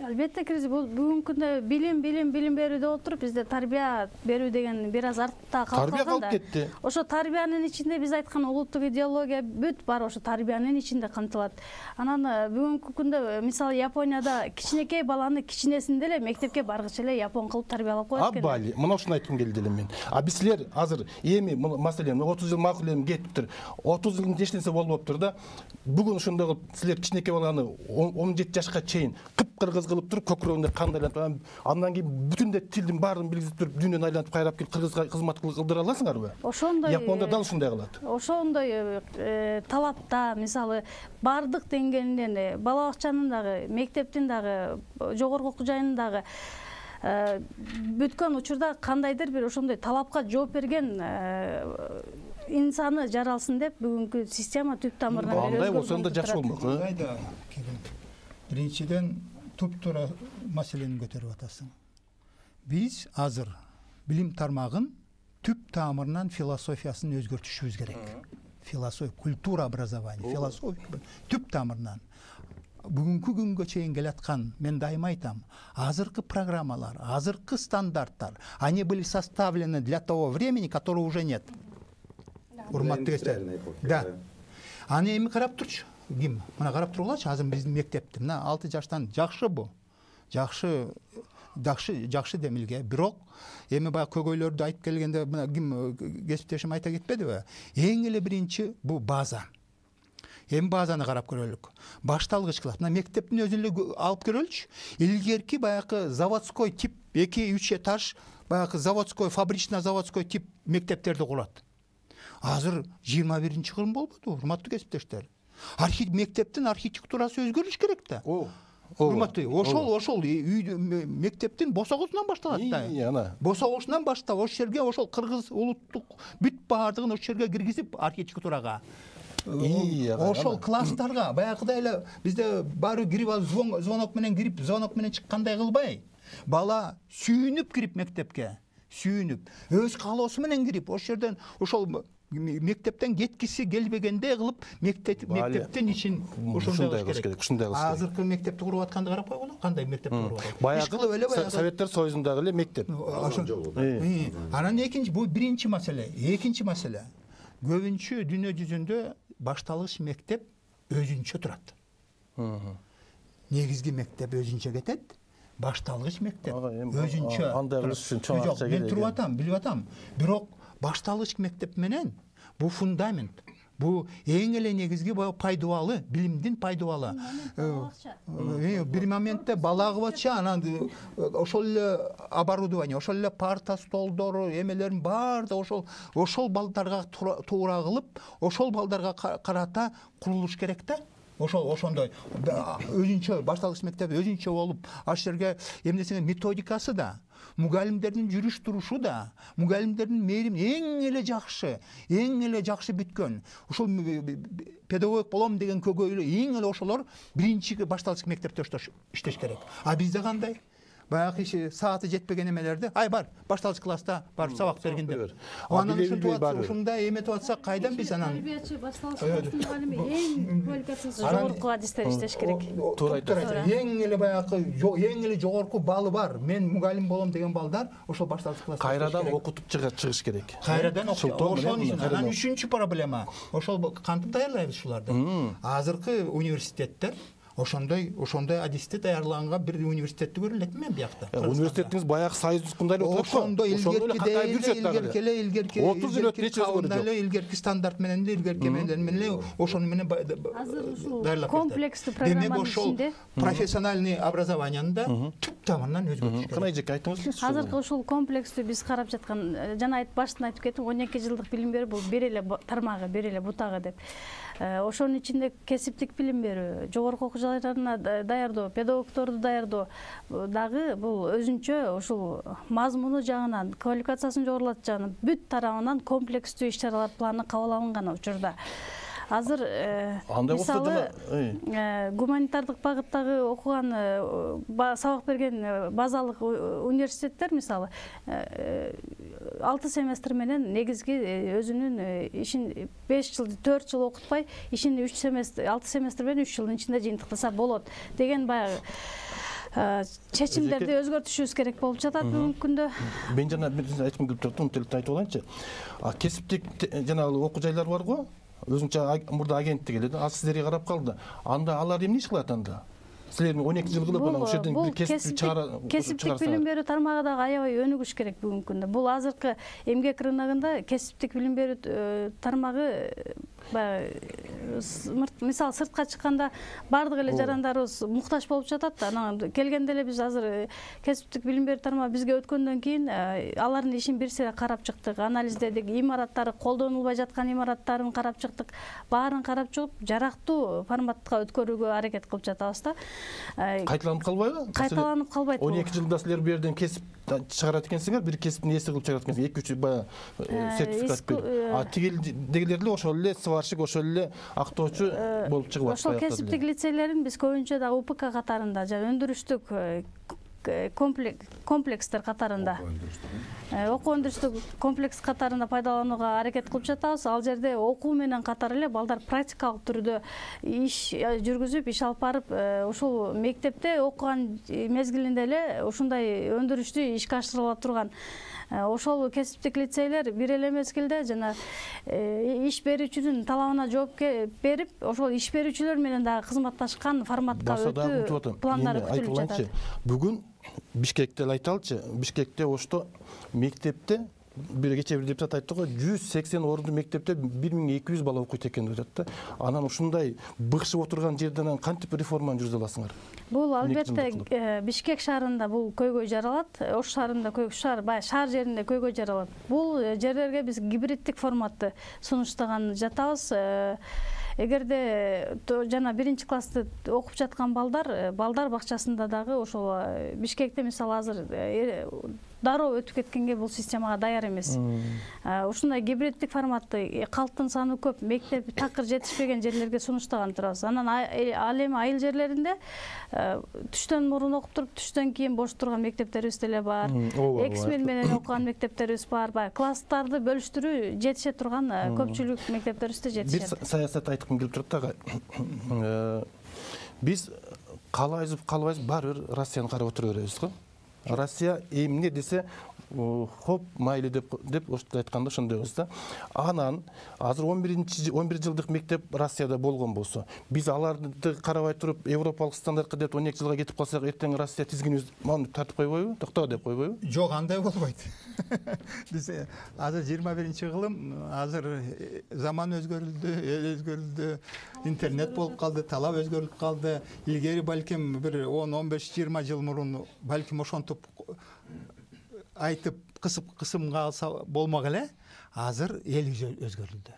Албетте киргизип, бул бүгүнкү күндө билим, билим, билим берүү деп отуруп, бизде тарбия берүү деген бир аз артта калып калган да. Тарбия калып кетти. Ошо тарбиянын ичинде биз айткан улуттук идеология бүт бар ошо тарбиянын ичинде камтылат. Анан бүгүнкү күндө мисалы Японияда кичинекей баланы кичинесинде эле мектепке баргыча эле япон кылып тарбиялап коет экен. Абали, мына ушуну айткым келди эле мен. А биз силер азыр эми маселен отуз жыл макул эми кетиптир. отуз жылдын эч нерсе болбоптур да. Бүгүн ошондой кылып силер кичинекей баланы он жети жашка чейин кыпкыргыз кылып туруп, көкүрөгүндө кандайланып, андан кийин бүтүндөй тилдин баарын билгизип туруп, дүйнөнү айланып кайрап келип кыргызга кызмат кылдыра аласыңарбы? Ошондой Япондо дал ушундай кылат. Ошондой талапта, мисалы, бардык деңгээлинен, бала бакчанын дагы, мектептин дагы, жогорку окуу жайынын дагы бүткөн учурда кандайдыр бир ошондой талапка жооп берген инсаны жаралсын деп бүгүнкү система түп тамырынан өзгөрүп. Андай болсо да жакшы болмок. Кайда? Биринчиден туп-туура маселени көтөрүп атасың. Биз азыр билим тармагын түп тамырынан философиясын өзгөртүшүбүз керек. Философия, культура образования, философия түп тамырынан. Бүгүнкү күнгө чейин келаткан, мен дайыма айтам, азыркы программалар, азыркы стандарттар, они были составлены для того времени, которого уже нет. Урматтуу кесиптер. Да. Аны эми карап турчу. Ким? Мына карап тургулачы, азыр биздин мектепти, мына алты жаштан жакшы бу. Жакшы, жакшы, жакшы демилге. Бирок эми баягы көйгөйлөрдү айтып келгенде, мына ким кесиптешим айта кетпедиби? Эң эле биринчи бу база. Эми базаны карап көрөлүк. Башталгыч класс. Мына мектептин өзүн эле алып көрөлүчү. Илгерки баягы заводской тип эки үч этаж, баягы заводской, фабрично-заводской тип мектептерди курат. Азыр жыйырма биринчи кылым болбоду, урматтуу кесиптештер. Архит мектептин архитектурасы өзгөрүш керек да. О, урматтуу, ошол ошол мектептин босогусунан башталат да. Босогусунан баштап ошол жерге ошол кыргыз улуттук бүт баардыгын ошол жерге киргизип архитектурага ошол класстарга баягыдай эле бизде баары кирип алып звонок менен кирип звонок менен чыккандай кылбай, бала сүйүнүп кирип мектепке, сүйүнүп өз каалоосу менен кирип ошол жерден ошол мектептен кеткиси келбегендей кылып мектептин ишин ошондой кылыш керек. Азыркы мектепти куруп атканды карап койгула, кандай мектепти куруп атат. Баягы Советтер Союзундагы эле мектеп. Анан экинчи, бул биринчи маселе. Экинчи маселе. Көбүнчө дүйнө жүзүндө башталгыч мектеп өзүнчө турат. Негизги мектеп өзүнчө кетет, башталгыч мектеп өзүнчө. Андай кылыш үчүн чоң акча керек. Мен туруп атам, билип атам. Бирок башталгыч мектеп менен бул фундамент, бул эң эле негизги пайдубалы, билимдин пайдубалы. Бир моментте бала кылбачы, анан ошол эле оборудование, ошол эле парта, столдору, эмелерин баардыгы ошол ошол балдарга туура кылып, ошол балдарга карата курулуш керек да. Ошол ошондой өзүнчө башталгыч мектеп өзүнчө болуп, ал жерге эмнесине методикасы да, мугалимдердин жүрүш турушу да, мугалимдердин мээрим эң эле жакшы, эң эле жакшы бүткөн. Ошол педагог болом деген көйгөйлөр эң эле ошолор биринчи башталгыч мектепте иштеш керек. А бизде кандай? Баягы иши сааты жетпеген эмелерди, ай бар, башталгыч класста барып сабак бергин деп. Анан ушундай эметип атсак, кайдан биз анан тарбиячы башталгыч класстын мугалими эң квалификациясы жогорку адистер иштеш керек. Туура айтасыз. Эң эле баягы эң эле жогорку баллы бар. Мен мугалим болом деген балдар ошол башталгыч класста кайрадан окутуп чыгыш керек. Кайрадан окутуп. Ошонун үчүн анан үчүнчү проблема. Ошол кантип даярдайбыз ушуларды? Азыркы университеттер ошондой ошондой адисти даярлаганга бир университетти көрө элекмин мен биякта. Университетиңиз баягы союз тускундай эле отурат го. Ошондой илгерки эле илгерки отуз жыл өтүп калганда эле илгерки стандарт менен эле илгерки эмелер менен эле ошону менен азыр ушул комплекстүү программанын ичинде профессиональный образованияны да түп тамырынан өзгөртүш керек. Кандай эжеке айтыңызчы? Азыркы ушул комплекстүү биз карап жаткан, жана айт баштан айтып кеттим, он эки жылдык билим берүү бул бир эле тармагы, бир эле бутагы деп. Ошонун ичинде кесиптик билим берүү, жогорку окуу жайларына даярдоо, педагогдорду даярдоо дагы бул өзүнчө ушул мазмуну жагынан, квалификациясын жогорулатуу жагынан бүт тарабынан комплекстүү иш-чаралар планы кабыл алынган учурда. Азыр мисалы гуманитардык багыттагы окуган, сабак берген базалык университеттер мисалы алты семестр менен негизги өзүнүн ишин беш жыл, төрт жыл окутпай, ишин үч семестр, алты семестр менен үч жылдын ичинде жыйынтыктаса болот деген баягы чечимдерди өзгөртүшүбүз керек болуп жатат бүгүнкү күндө. Мен жана айткым келип турат, мынтип айтып алайынчы. Кесиптик жанагы окуу жайлар бар го, өзүнчө мурда агенттик эле, ал сиздерге карап калды. Анда алар эмне иш кылат анда? Силер он эки жыл кылып анан ошол жерден бир кесип чыгара. Кесиптик билим берүү тармагы дагы аябай өнүгүш керек бүгүнкү күндө. Бул азыркы эмгек рыногунда кесиптик билим берүү тармагы мисалы сыртка чыкканда баардык эле жарандарыбыз муктаж болуп жатат. Анан келгенде эле биз азыр кесиптик билим берүү тармагы бизге өткөндөн кийин алардын ишин бир сыйра карап чыктык, анализдедик, имараттары колдонулбай жаткан имараттарын карап чыктык. Баарын карап чыгып, жарактуу форматка өткөрүүгө аракет кылып жатабыз да. Кайталанып калбайбы? Кайталанып калбайт. он эки жылда силер бул жерден кесип чыгарат экенсиңер, бир кесиптин ээси кылып чыгарат экенсиңер, эки үч баягы сертификат берип. А тигилдегилер эле ошол эле сварщик, ошол эле актоочу болуп чыгып атат. Ошол кесиптик лицейлерин биз көбүнчө да УПК катарында жана өндүрүштүк комплекстер катарында, окуу өндүрүштүк комплекс катарында пайдаланууга аракет кылып жатабыз. Ал жерде окуу менен катар эле балдар практикалык түрдө иш жүргүзүп, иш алып барып, ушул мектепте окуган мезгилинде эле ушундай өндүрүштү ишке ашырыла турган ошол кесиптик лицейлер бир эле мезгилде жана иш берүүчүнүн талабына жооп берип, ошол иш берүүчүлөр менен дагы кызматташкан форматка өтүү пландары күтүлүп жатат. Бүгүн Бишкекте эле айталычы, Бишкекте ошто мектепте бир кече бир депутат айтты го, жүз сексен орунду мектепте бир миң эки жүз бала окуйт экен деп жатты. Анан ушундай быкшып отурган жерден кантип реформаны жүргүзө аласыңар? Бул албетте Бишкек шаарында бул көйгөй жаралат, Ош шаарында көйгөй, шаар, бай шаар жеринде көйгөй жаралат. Бул жерлерге биз гибриддик форматты сунуштаган жатабыз. эгерде жана биринчи классты окуп жаткан балдар балдар бакчасында дагы ошол Бишкекте мисалы азыр дароо өтүп кеткенге бул системага даяр эмес. Ушундай гибриддик форматты калктын саны көп, мектеп такыр жетишпеген жерлерге сунуштаган турабыз. Анан ал эми айыл жерлеринде түштөн мурун окуп туруп, түштөн кийин бош турган мектептерибиз деле бар. Эксмен менен окуган мектептерибиз бар. Класстарды бөлүштүрүү жетише турган көпчүлүк мектептерибизде жетишет. Бир саясат айткым келип турат дагы. Биз каалайбыз, каалабайбыз, баары бир Россияны карап отура беребиз го. Россия эмне десе, хоп, майлы деп деп ошто айтканда ошондойбуз да. Анан азыр он биринчи он бир жылдык мектеп Россияда болгон болсо, биз аларды карабай туруп европалык стандартка деп он эки жылга кетип калсак, эртең Россия тизгинибиз муну тартып койбойбу? Токто деп койбойбу? Жок, андай болбойт. Биз азыр жыйырма биринчи кылым, азыр заман өзгөрүлдү, эл өзгөрүлдү, интернет болуп калды, талап өзгөрүлүп калды. Илгери балким бир он он беш жыйырма жыл мурун балким ошонтип айтып кысып кысымга алса болмок эле. Азыр эл өзгөрүлдү.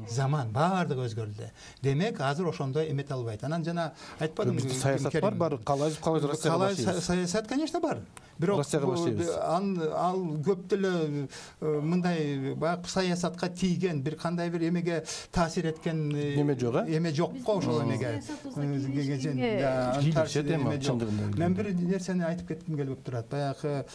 Заман баардыгы өзгөрүлдү. Демек, азыр ошондой эмете албайт. Анан жана айтпадым, саясат бар, бар, каалайбыз, каалайбыз Россияга башlayбыз. Саясат, конечно, бар. Бирок ал көп деле мындай баягы саясатка тийген, бир кандай бир эмеге таасир эткен эме жок, э? Эме жок го ошол эмеге. Мен бир нерсени айтып кетким келип турат. Баягы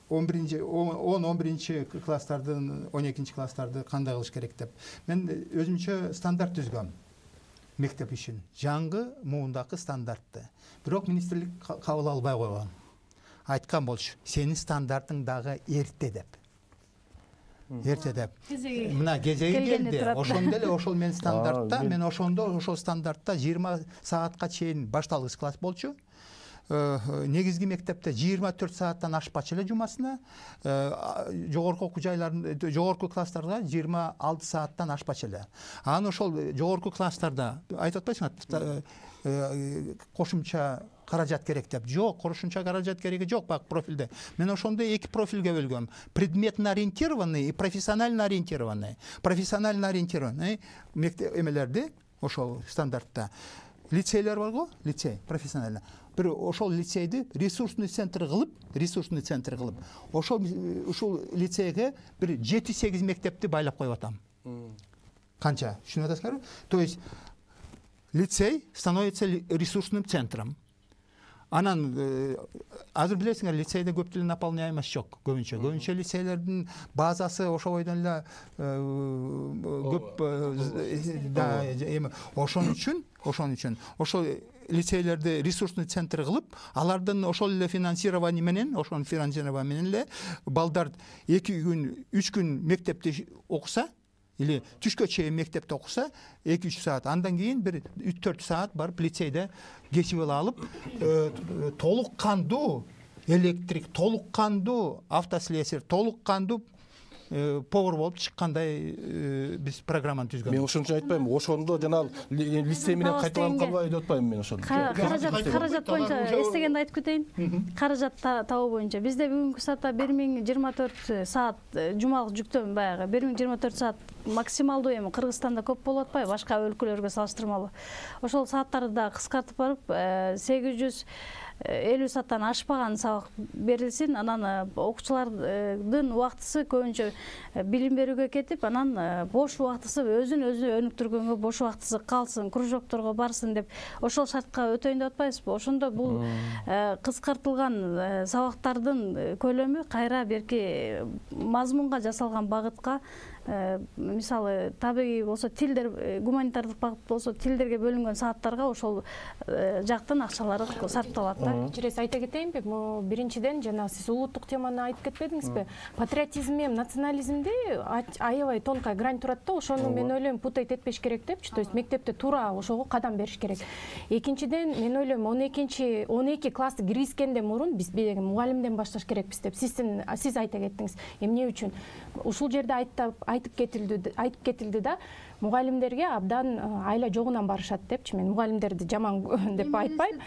он биринчи он он биринчи класстардын, он экинчи класстарды кандай кылыш керек деп. Мен өзүмчө стандарт түзгөм. Мектеп үчүн жаңы муундагы стандартты. Бирок министрлик кабыл албай койгон. Айткан болчу, сенин стандартың дагы эрте деп. Эрте деп. Мына кезеги келди. Ошондо эле ошол мен стандартта, мен ошондо ошол стандартта жыйырма саатка чейин башталгыч класс болчу. Негизги мектепте жыйырма төрт сааттан ашпачу эле жумасына, жогорку окуу жайларында, жогорку класстарда жыйырма алты сааттан ашпачу эле. Анан ошол жогорку класстарда айтып атпайсыңбы, кошумча каражат керек деп. Жок, кошумча каражат кереги жок бак профилде. Мен ошондо эки профилге бөлгөм. Предметно ориентированный и профессионально ориентированный. Профессионально ориентированный мектеп эмелерди ошол стандартта. Лицейлер бар го, лицей, профессионально. Бир ошол лицейди ресурсный центр кылып, ресурсный центр кылып, ошол ушул лицейге бир жети сегиз мектепти байлап коюп атам. Канча? Түшүнүп атасыңарбы? То есть лицей становится ресурсным центром. Анан азыр билесиңер, лицейде көп деле наполняемость жок, көбүнчө. Көбүнчө лицейлердин базасы ошо бойдон эле көп да эми ошон үчүн, ошон үчүн ошол лицейлерди ресурсный центр кылып, алардын ошол эле финансирование менен, ошон финансирование менен эле балдар эки күн, үч күн мектепте окуса, или түшкө чейин мектепте окуса, эки үч саат, андан кийин бир үч төрт саат барып лицейде кесип алып, толук кандуу электрик, толук кандуу автослесарь, толук кандуу повар болуп чыккандай биз программаны түзгөн. Мен ошончо айтпайм, ошондо жана лицей менен кайталанып калбайбы деп атпайм мен ошону. Каражат, каражат боюнча эстегенди айтып кетейин. Каражат табуу боюнча бизде бүгүнкү саатта бир миң жыйырма төрт саат жумалык жүктөм баягы бир миң жыйырма төрт саат максималдуу эми Кыргызстанда көп болуп атпайбы башка өлкөлөргө салыштырмалуу. Ошол сааттарды да кыскартып барып сегиз жүз элүү сааттан ашпаган сабак берилсин. Анан окуучулардын убактысы көбүнчө билим берүүгө кетип, анан бош убактысы өзүн өзү өнүктүргөнгө бош убактысы калсын, кружокторго барсын деп ошол шартка өтөйүн деп атпайсызбы? Ошондо бул кыскартылган сабактардын көлөмү кайра берки мазмунга жасалган багытка, мисалы табигый болсо тилдер, гуманитардык багыт болсо тилдерге бөлүнгөн сааттарга ошол жактан акчалары сарпталат да. Кечиресиз, айта кетейинби, биринчиден жана сиз улуттук теманы айтып кетпедиңизби? Патриотизм менен национализмде аябай тонкая грань турат да, ошону мен ойлойм путать этпеш керек депчи. То есть мектепте туура ошого кадам бериш керек. Экинчиден мен ойлойм он экинчи он эки классты киргизгенден мурун биз мугалимден башташ керекпиз деп. Сиздин сиз айта кеттиңиз. Эмне үчүн? Ушул жерде айтып айтып кетилди, айтып кетилди да, мугалимдерге абдан айла жогунан барышат депчи. Мен мугалимдерди жаман деп айтпайм.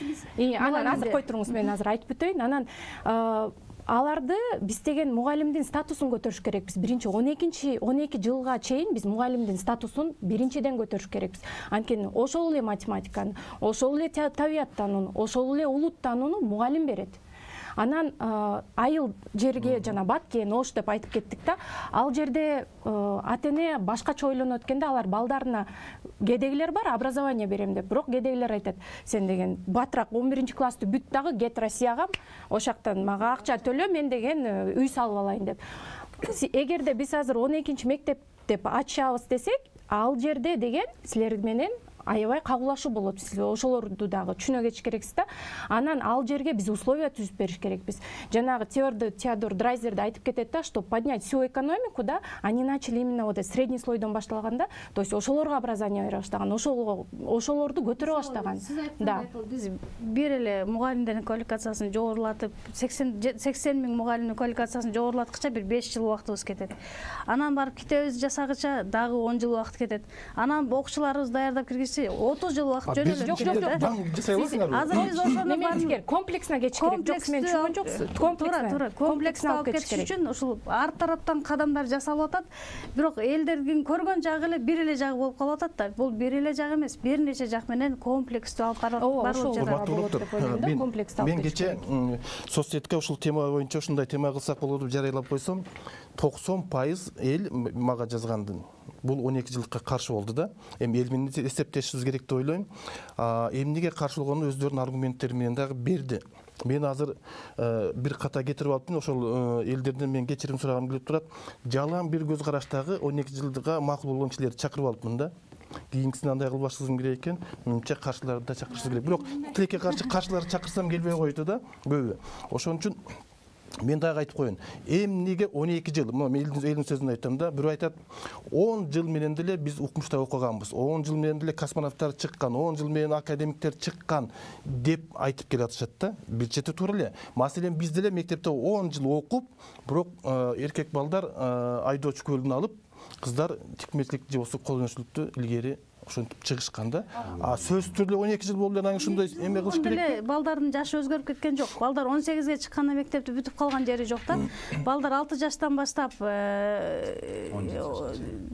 Анан азыр кой туруңуз, мен азыр айтып бүтөйүн. Анан аларды биз деген мугалимдин статусун көтөрүш керекпиз. Биринчи он экинчи он эки жылга чейин биз мугалимдин статусун биринчиден көтөрүш керекпиз. Анткени ошол эле математиканы, ошол эле табияттанууну, ошол эле улуттанууну мугалим берет. Анан айыл жерге жана бат кийин ош деп айтып кеттик да. Ал жерде ата эне башкача ойлонот экенде, алар балдарына кедейлер бар, образование берем деп. Бирок кедейлер айтат: сен деген батыраак он биринчи классты бүт дагы кет Россияга, ошактан мага акча төлө, мен деген үй салып алайын деп. Эгерде биз азыр он экинчи мектеп деп ачабыз десек, ал жерде деген силер менен аябай кагылашуу болот. Сиз ошолорду дагы түшүнө кетиш керексиз да. Анан ал жерге биз условия түзүп бериш керекпиз. Жанагы Теодор Драйзер да айтып кетет да, что поднять всю экономику, да, они начали именно вот средний слойдон башталган да. То есть ошолорго образование бере баштаган, ошол ошолорду көтөрө баштаган. Да. Биз бир эле мугалимдердин квалификациясын жогорулатып, сексен миң мугалимдин квалификациясын жогорулаткыча бир беш жыл убактыбыз кетет. Анан барып китебибизди жасагыча дагы он жыл убакыт кетет. Анан окуучуларыбызды даярдап киргизсе отуз жыл убакыт жөнөдү. Жок, жок, жок. Азыр биз ошону бар комплексна кетиш керек. Жок, мен түшүнгөн жоксуз. Туура, туура. Комплексна алып кетиш үчүн ушул ар тараптан кадамдар жасалып атат. Бирок элдердин көргөн жагы эле бир эле жагы болуп калып атат да. Бул бир эле жак эмес, бир нече жак менен комплекстүү алып барылып жатат. Мен кече соцсетке ушул тема боюнча ушундай тема кылсак болот деп жарыялап койсом, токсон пайыз эл мага жазгандын бул он эки жылдыкка каршы болду да. Эми эл менен эсептешибиз керек деп ойлойм. Эмнеге каршылыгын өздөрүнүн аргументтери менен дагы берди. Мен азыр бир ката кетирип алыптын, ошол элдерден мен кечирим сурагым келип турат. Жалаң бир көз караштагы он эки жылдыга макул болгон кишилерди чакырып алыпмын да. Кийинкисин андай кылбашыбыз керек экен. Менимче каршыларды да чакырышыбыз керек. Бирок тилекке каршы каршыларды чакырсам келбей койту да. Көбү. Ошон үчүн мен дагы айтып коеюн. Эмнеге он эки жыл? Мен элдин сөзүн айтам да. Бирөө айтат, он жыл менен деле биз укмушта окуганбыз. он жыл менен деле космонавттар чыккан, он жыл менен академиктер чыккан деп айтып келатышат да. Бир чети туура эле. Маселен, биз деле мектепте он жыл окуп, бирок эркек балдар айдоочу көлүн алып, кыздар тикмечилик же болсо кол өнөрчүлүктү илгери ошентип чыгышкан да. А сөзсүз түрдө он эки жыл болду анан ушундай эме кылыш керек. Балдардын жашы өзгөрүп кеткен жок. Балдар он сегизге чыкканда мектепти бүтүп калган жери жок да. Балдар алты жаштан баштап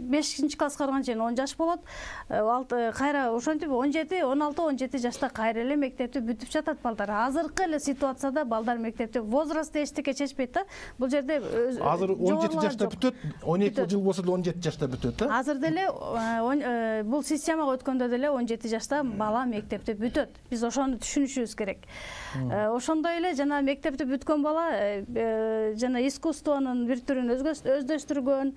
бешинчи класска барганга чейин он жаш болот. Кайра ошентип он жети, он алты, он жети жашта кайра эле мектепти бүтүп жатат балдар. Азыркы эле ситуацияда балдар мектепте возрастты эчтеке чечпейт да. Бул жерде азыр он жети жашта бүтөт, он эки жыл болсо деле он жети жашта бүтөт да. Азыр деле бул системага өткөндө деле он жети жашта бала мектепте бүтөт. Биз ошону түшүнүшүбүз керек. Ошондой эле жана мектепте бүткөн бала жана искусствонун бир түрүн өздөштүргөн,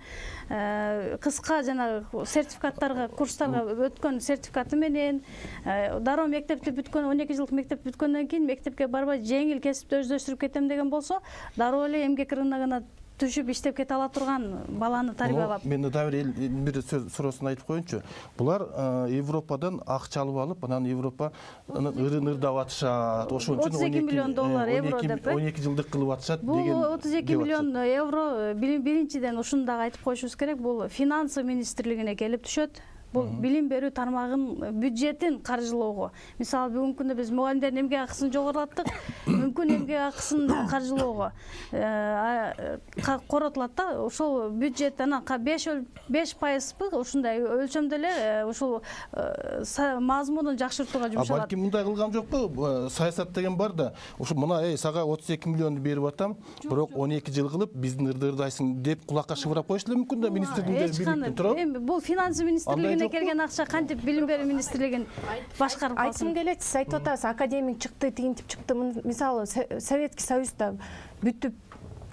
кыска жана сертификаттарга, курстарга өткөн сертификаты менен дароо мектепти бүткөн, он эки жылдык мектеп бүткөндөн кийин мектепке барбай жеңил кесипти өздөштүрүп кетем деген болсо, дароо эле эмгек рыногуна түшүп иштеп кете ала турган баланы тарбиялап. Мен дагы бир сөз суроосун айтып коеюнчу. Булар Европадан акча алып алып, анан Европа ырын ырдап атышат. Ошон үчүн отуз эки миллион доллар евро деп он эки жылдык кылып атышат деген. Бул отуз эки миллион евро биринчиден ушуну дагы айтып коюшубуз керек. Бул финансы министрлигине келип түшөт. Бул билим берүү тармагынын бюджетин каржылоого. Мисалы, бүгүнкү күндө биз мугалимдердин эмгек акысын жогорулаттык. Мүмкүн эмгек акысын каржылоого коротулат да. Ошол бюджет анан беш пайызбы ушундай өлчөмдө эле ушул мазмунун жакшыртууга жумшалат. А балки мындай кылган жокпу? Саясат деген бар да. Ушу мына эй сага отуз эки миллионду берип атам, бирок он эки жыл кылып биздин ырдырдайсың деп кулакка шыбырап коюш эле мүмкүн да министрликтер бийликтин туурабы? Эми бул финансы министрлигине келген акча кантип билим берүү министрлигин башкарып калсын? Айтсым келет, сиз айтып атасыз, академик чыкты, тигинтип чыкты. Мисалы, Советский Союзда бүтүп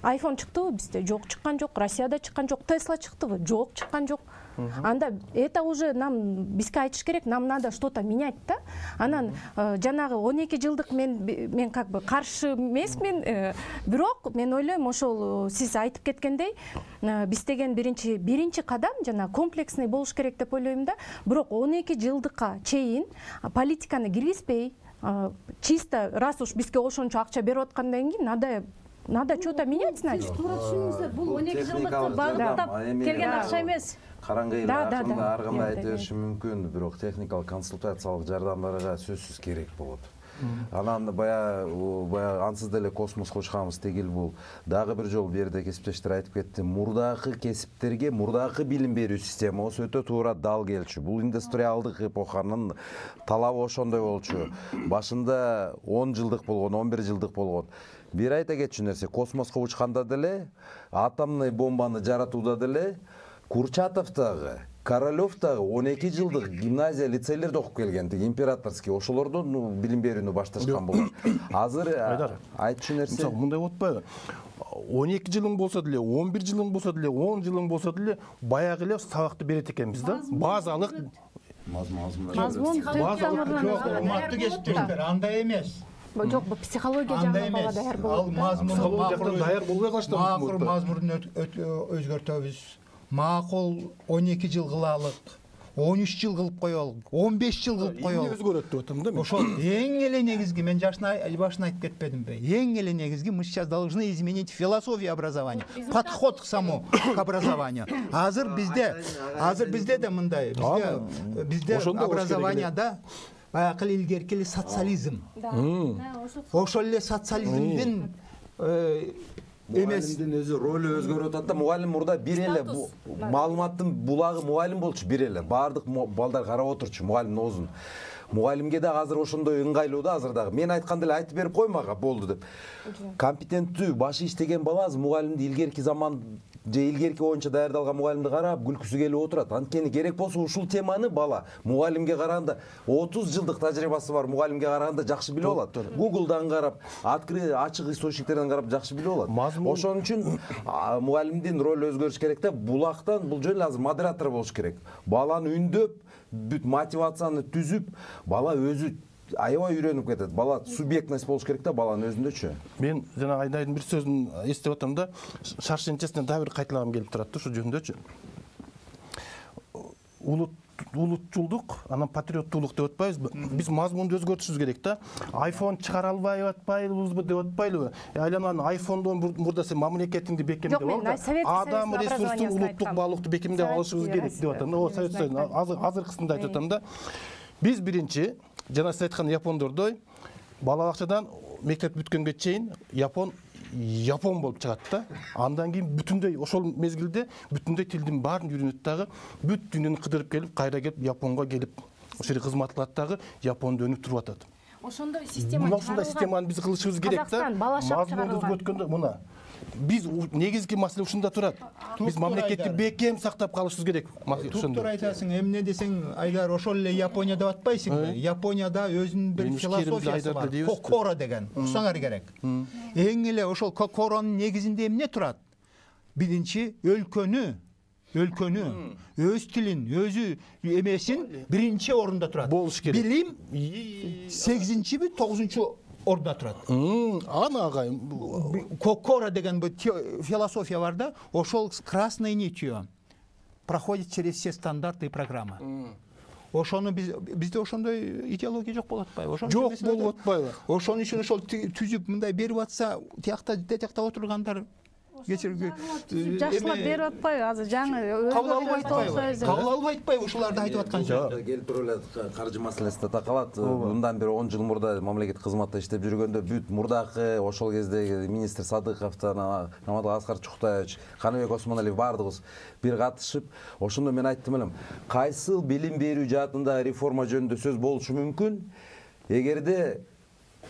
айфон чыктыбы бизде? Жок, чыккан жок. Россияда чыккан жок. Тесла чыктыбы? Жок, чыккан жок. Анда это уже нам бизге айтыш керек, нам надо что-то менять да. Анан жанагы он эки жылдык мен мен как бы каршы эмесмин, бирок мен ойлойм ошол сиз айтып кеткендей биз деген биринчи биринчи кадам жана комплексный болуш керек деп ойлойм да. Бирок он эки жылдыкка чейин политиканы киргизбей, чисто раз уж бизге ошончо акча берип аткандан кийин надо надо что-то менять, значит. Туура түшүнүңүздөр, бул он эки жылдыкты багыттап келген акча эмес. Караңгы эл ар кандай айта бериши мүмкүн, бирок техникалык консультациялык жардамдарга сөзсүз керек болот. Анан баягы баягы ансыз деле космоско учканбыз тегил бул. Дагы бир жолу бу жерде кесиптештер айтып кетти. Мурдакы кесиптерге, мурдакы билим берүү системасы өтө туура дал келчү. Бул индустриалдык эпоханын талабы ошондой болчу. Башында он жылдык болгон, он бир жылдык болгон. Бир айта кетчү нерсе, космоско учканда деле, атомный бомбаны жаратууда деле Курчатов дагы, Королёв дагы он эки жылдык гимназия, лицейлерде окуп келген, императорский, ошолордон билим берүүнү башташкан болгон. Азыр айтчу нерсе, мындай болуп атпайбы? он эки жылың болсо деле, он бир жылың болсо деле, он жылың болсо деле баягы эле сабакты берет экенбиз да. Базалык мазмун урматтуу кесиптештер, андай эмес. Жок, бул психология жагынан бала даяр болот. Ал мазмун даяр болбой калышты. Макул мазмунун өзгөртөбүз. Макул он эки жыл кылалык, он үч жыл кылып коелук, он беш жыл кылып коелук. Өзгөрөт деп атам да мен. Ошол эң эле негизги, мен жашына башына айтып кетпедимби? Эң эле негизги мы сейчас должны изменить философию образования, подход к самому к образованию. Азыр бизде, азыр бизде да мындай, бизде бизде образованияда баягы илгерки эле социализм. Ошол эле социализмдин эмес. Мугалимдин өзү ролу өзгөрүп атат да. Мугалим мурда бир эле маалыматтын булагы мугалим болчу, бир эле. Баардык балдар карап отурчу мугалимдин оозун. Мугалимге дагы азыр ошондой ыңгайлуу да азыр дагы. Мен айтканды эле айтып берип коймага болду деп. Компетенттүү, башы иштеген бала азыр мугалимди илгерки заман же илгерки боюнча даярдалган мугалимди карап күлкүсү келип отурат. Анткени керек болсо ушул теманы бала мугалимге караганда отуз жылдык тажрыйбасы бар мугалимге караганда жакшы билип алат. Google'дан карап, открытый ачык источниктерден карап жакшы билип алат. Ошон үчүн мугалимдин ролу өзгөрүш керек да. Булактан бул жөн азыр модератор болуш керек. Баланы үндөп, бүт мотивацияны түзүп, бала өзү аябай үйрөнүп кетет. Бала субъектность болуш керек да баланын өзүндөчү. Мен жана Айнайдын бир сөзүн эстеп атам да, шаршенчесине дагы бир кайталагым келип турат да ушул жөнүндөчү. Улут улутчулдук, анан патриоттуулук деп атпайбызбы? Биз мазмунду өзгөртүшүбүз керек да. iPhone чыгара албай атпайбызбы деп атпайлыбы? Айланан iPhone'дон мурда сен мамлекетиңди бекемдеп ал да. Адам ресурстун улуттук баалуулукту бекемдеп алышыбыз керек деп атам. О, Совет Союзунун азыркысында айтып атам да. Биз биринчи жана сиз айткан япондордой бала бакчадан мектеп бүткөнгө чейин япон япон болуп чыгат да. Андан кийин бүтүндөй ошол мезгилде бүтүндөй тилдин баарын үйрөнөт дагы, бүт дүйнөнү кыдырып келип, кайра келип Японго келип ошол жерде кызмат кылат дагы, Японду өнүп туруп атат. Ошондой система чыгарылган. Ошондой системаны биз кылышыбыз керек да. Мазмунду өзгөрткөндө мына биз негизги маселе ушунда турат. Биз мамлекетти бекем сактап калышыбыз керек. Туктур айтасың, эмне десең, Айдар, ошол эле Япония деп атпайсыңбы? Японияда өзүнүн бир философиясы бар, Кокоро деген. Уксаңар керек. Эң эле ошол Кокоронун негизинде эмне турат? Биринчи өлкөнү өлкөнү, өз тилин, өзү эмесин биринчи орунда турат. Болуш керек. Билим сегизинчиби, тогузунчу орунда турат. Ана агайым. Кокоро деген бул философия бар да, ошол красной нитью проходит через все стандарты и программы. Ошону биз бизде ошондой идеология жок болуп атпайбы? Ошон жок болуп атпайбы? Ошон үчүн ошол түзүп мындай берип атса, тиякта детекте отургандар жакшылап берип атпайбы? Азыр жаңы кабыл албай атпайбы? Кабыл албай атпайбы ушуларды айтып аткан сөздү? Келип туруп эле каржы маселеси да такалат. Мындан бери он жыл мурда мамлекет кызматта иштеп жүргөндө бүт мурдакы ошол кездеги министр Садыковдон, Наматов Аскар Чуктаевич, Каныбек Осмоналиев баардыгыбыз бир катышып, ошондо мен айттым элем, кайсыл билим берүү жаатында реформа жөнүндө сөз болушу мүмкүн? Эгерде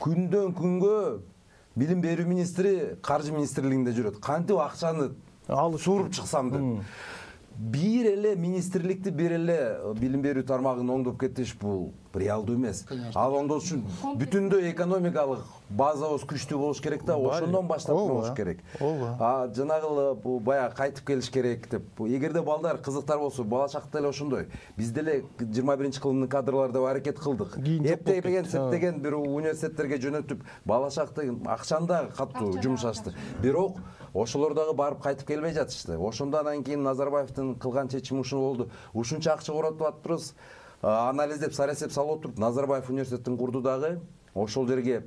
күндөн күнгө билим берүү министри каржы министрлигинде жүрөт. Кантип акчаны алып суруп чыксам деп. Бир эле министрликти, бир эле билим берүү тармагын оңдоп кетиш бул реалдуу эмес. Ал оңдош үчүн бүтүндөй экономикалык базабыз күчтүү болуш керек да, ошондон баштап болуш керек. А жанагы бул баягы кайтып келиш керек деп. Эгерде балдар кызыктар болсо, бала чакта эле ошондой. Биз деле жыйырма биринчи кылымдын кадрлары деп аракет кылдык. Эптеген, септеген бир университеттерге жөнөтүп, бала чакта акчаны да катуу жумшашты. Бирок ошолор дагы барып кайтып келбей жатышты. Ошондон кийин Назарбаевдин кылган чечими ушул болду. Ушунча акча коротуп атпырбыз. Анализдеп, сарасеп салып отуруп, Назарбаев университетин курду дагы. Ошол жерге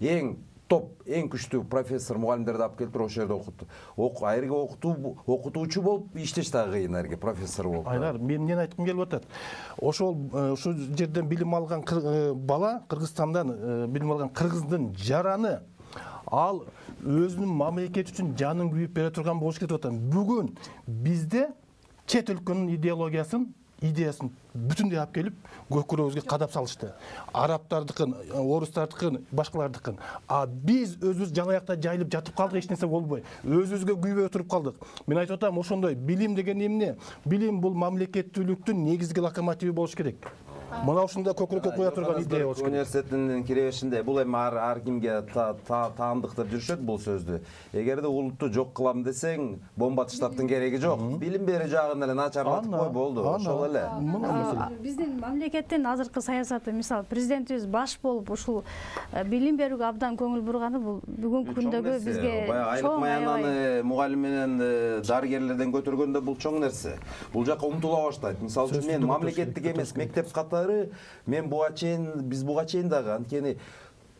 эң топ эң күчтүү профессор мугалимдерди алып келиптир, ошол жерде окутту. Айырга окутуу окутуучу болуп иштеш дагы кыйын, айырга профессор болуп. Айдар, мен эмнени айткым келип атат? Ошол ушул жерден билим алган бала, Кыргызстандан билим алган кыргыздын жараны ал өзүнүн мамлекети үчүн жанын күйүп бере турган болуш керек деп атам. Бүгүн бизде чет өлкөнүн идеологиясын, идеясын бүтүндөй алып келип көкүрөгүбүзгө кадап салышты. Арабтардыкын, орустардыкын, башкалардыкын. А биз өзүбүз жалаякта жайылып жатып калдык, эч нерсе болбой. Өзүбүзгө күйбөй отуруп калдык. Мен айтып атам, ошондой билим деген эмне? Билим бул мамлекеттүүлүктүн негизги локомотиви болуш керек. Мына ушундай көкүрөккө кое турган идея болуш керек. Университеттин киребешинде бул эми ар кимге таандык деп жүрүшөт бул сөздү. Эгерде улутту жок кылам десең, бомба таштаптын кереги жок. Билим берүү жагын эле начарлатып кой, болду. Ошол эле. Биздин мамлекеттин азыркы саясаты, мисалы президентибиз баш болуп ушул билим берүүгө абдан көңүл бурганы бул бүгүнкү күндөгү бизге айлык маянаны мугалим менен дарыгерлерден көтөргөндө бул чоң нерсе. Бул жака умтула баштайт. Мисалы үчүн мен мамлекеттик эмес мектеп катары мен буга чейин биз буга чейин дагы анткени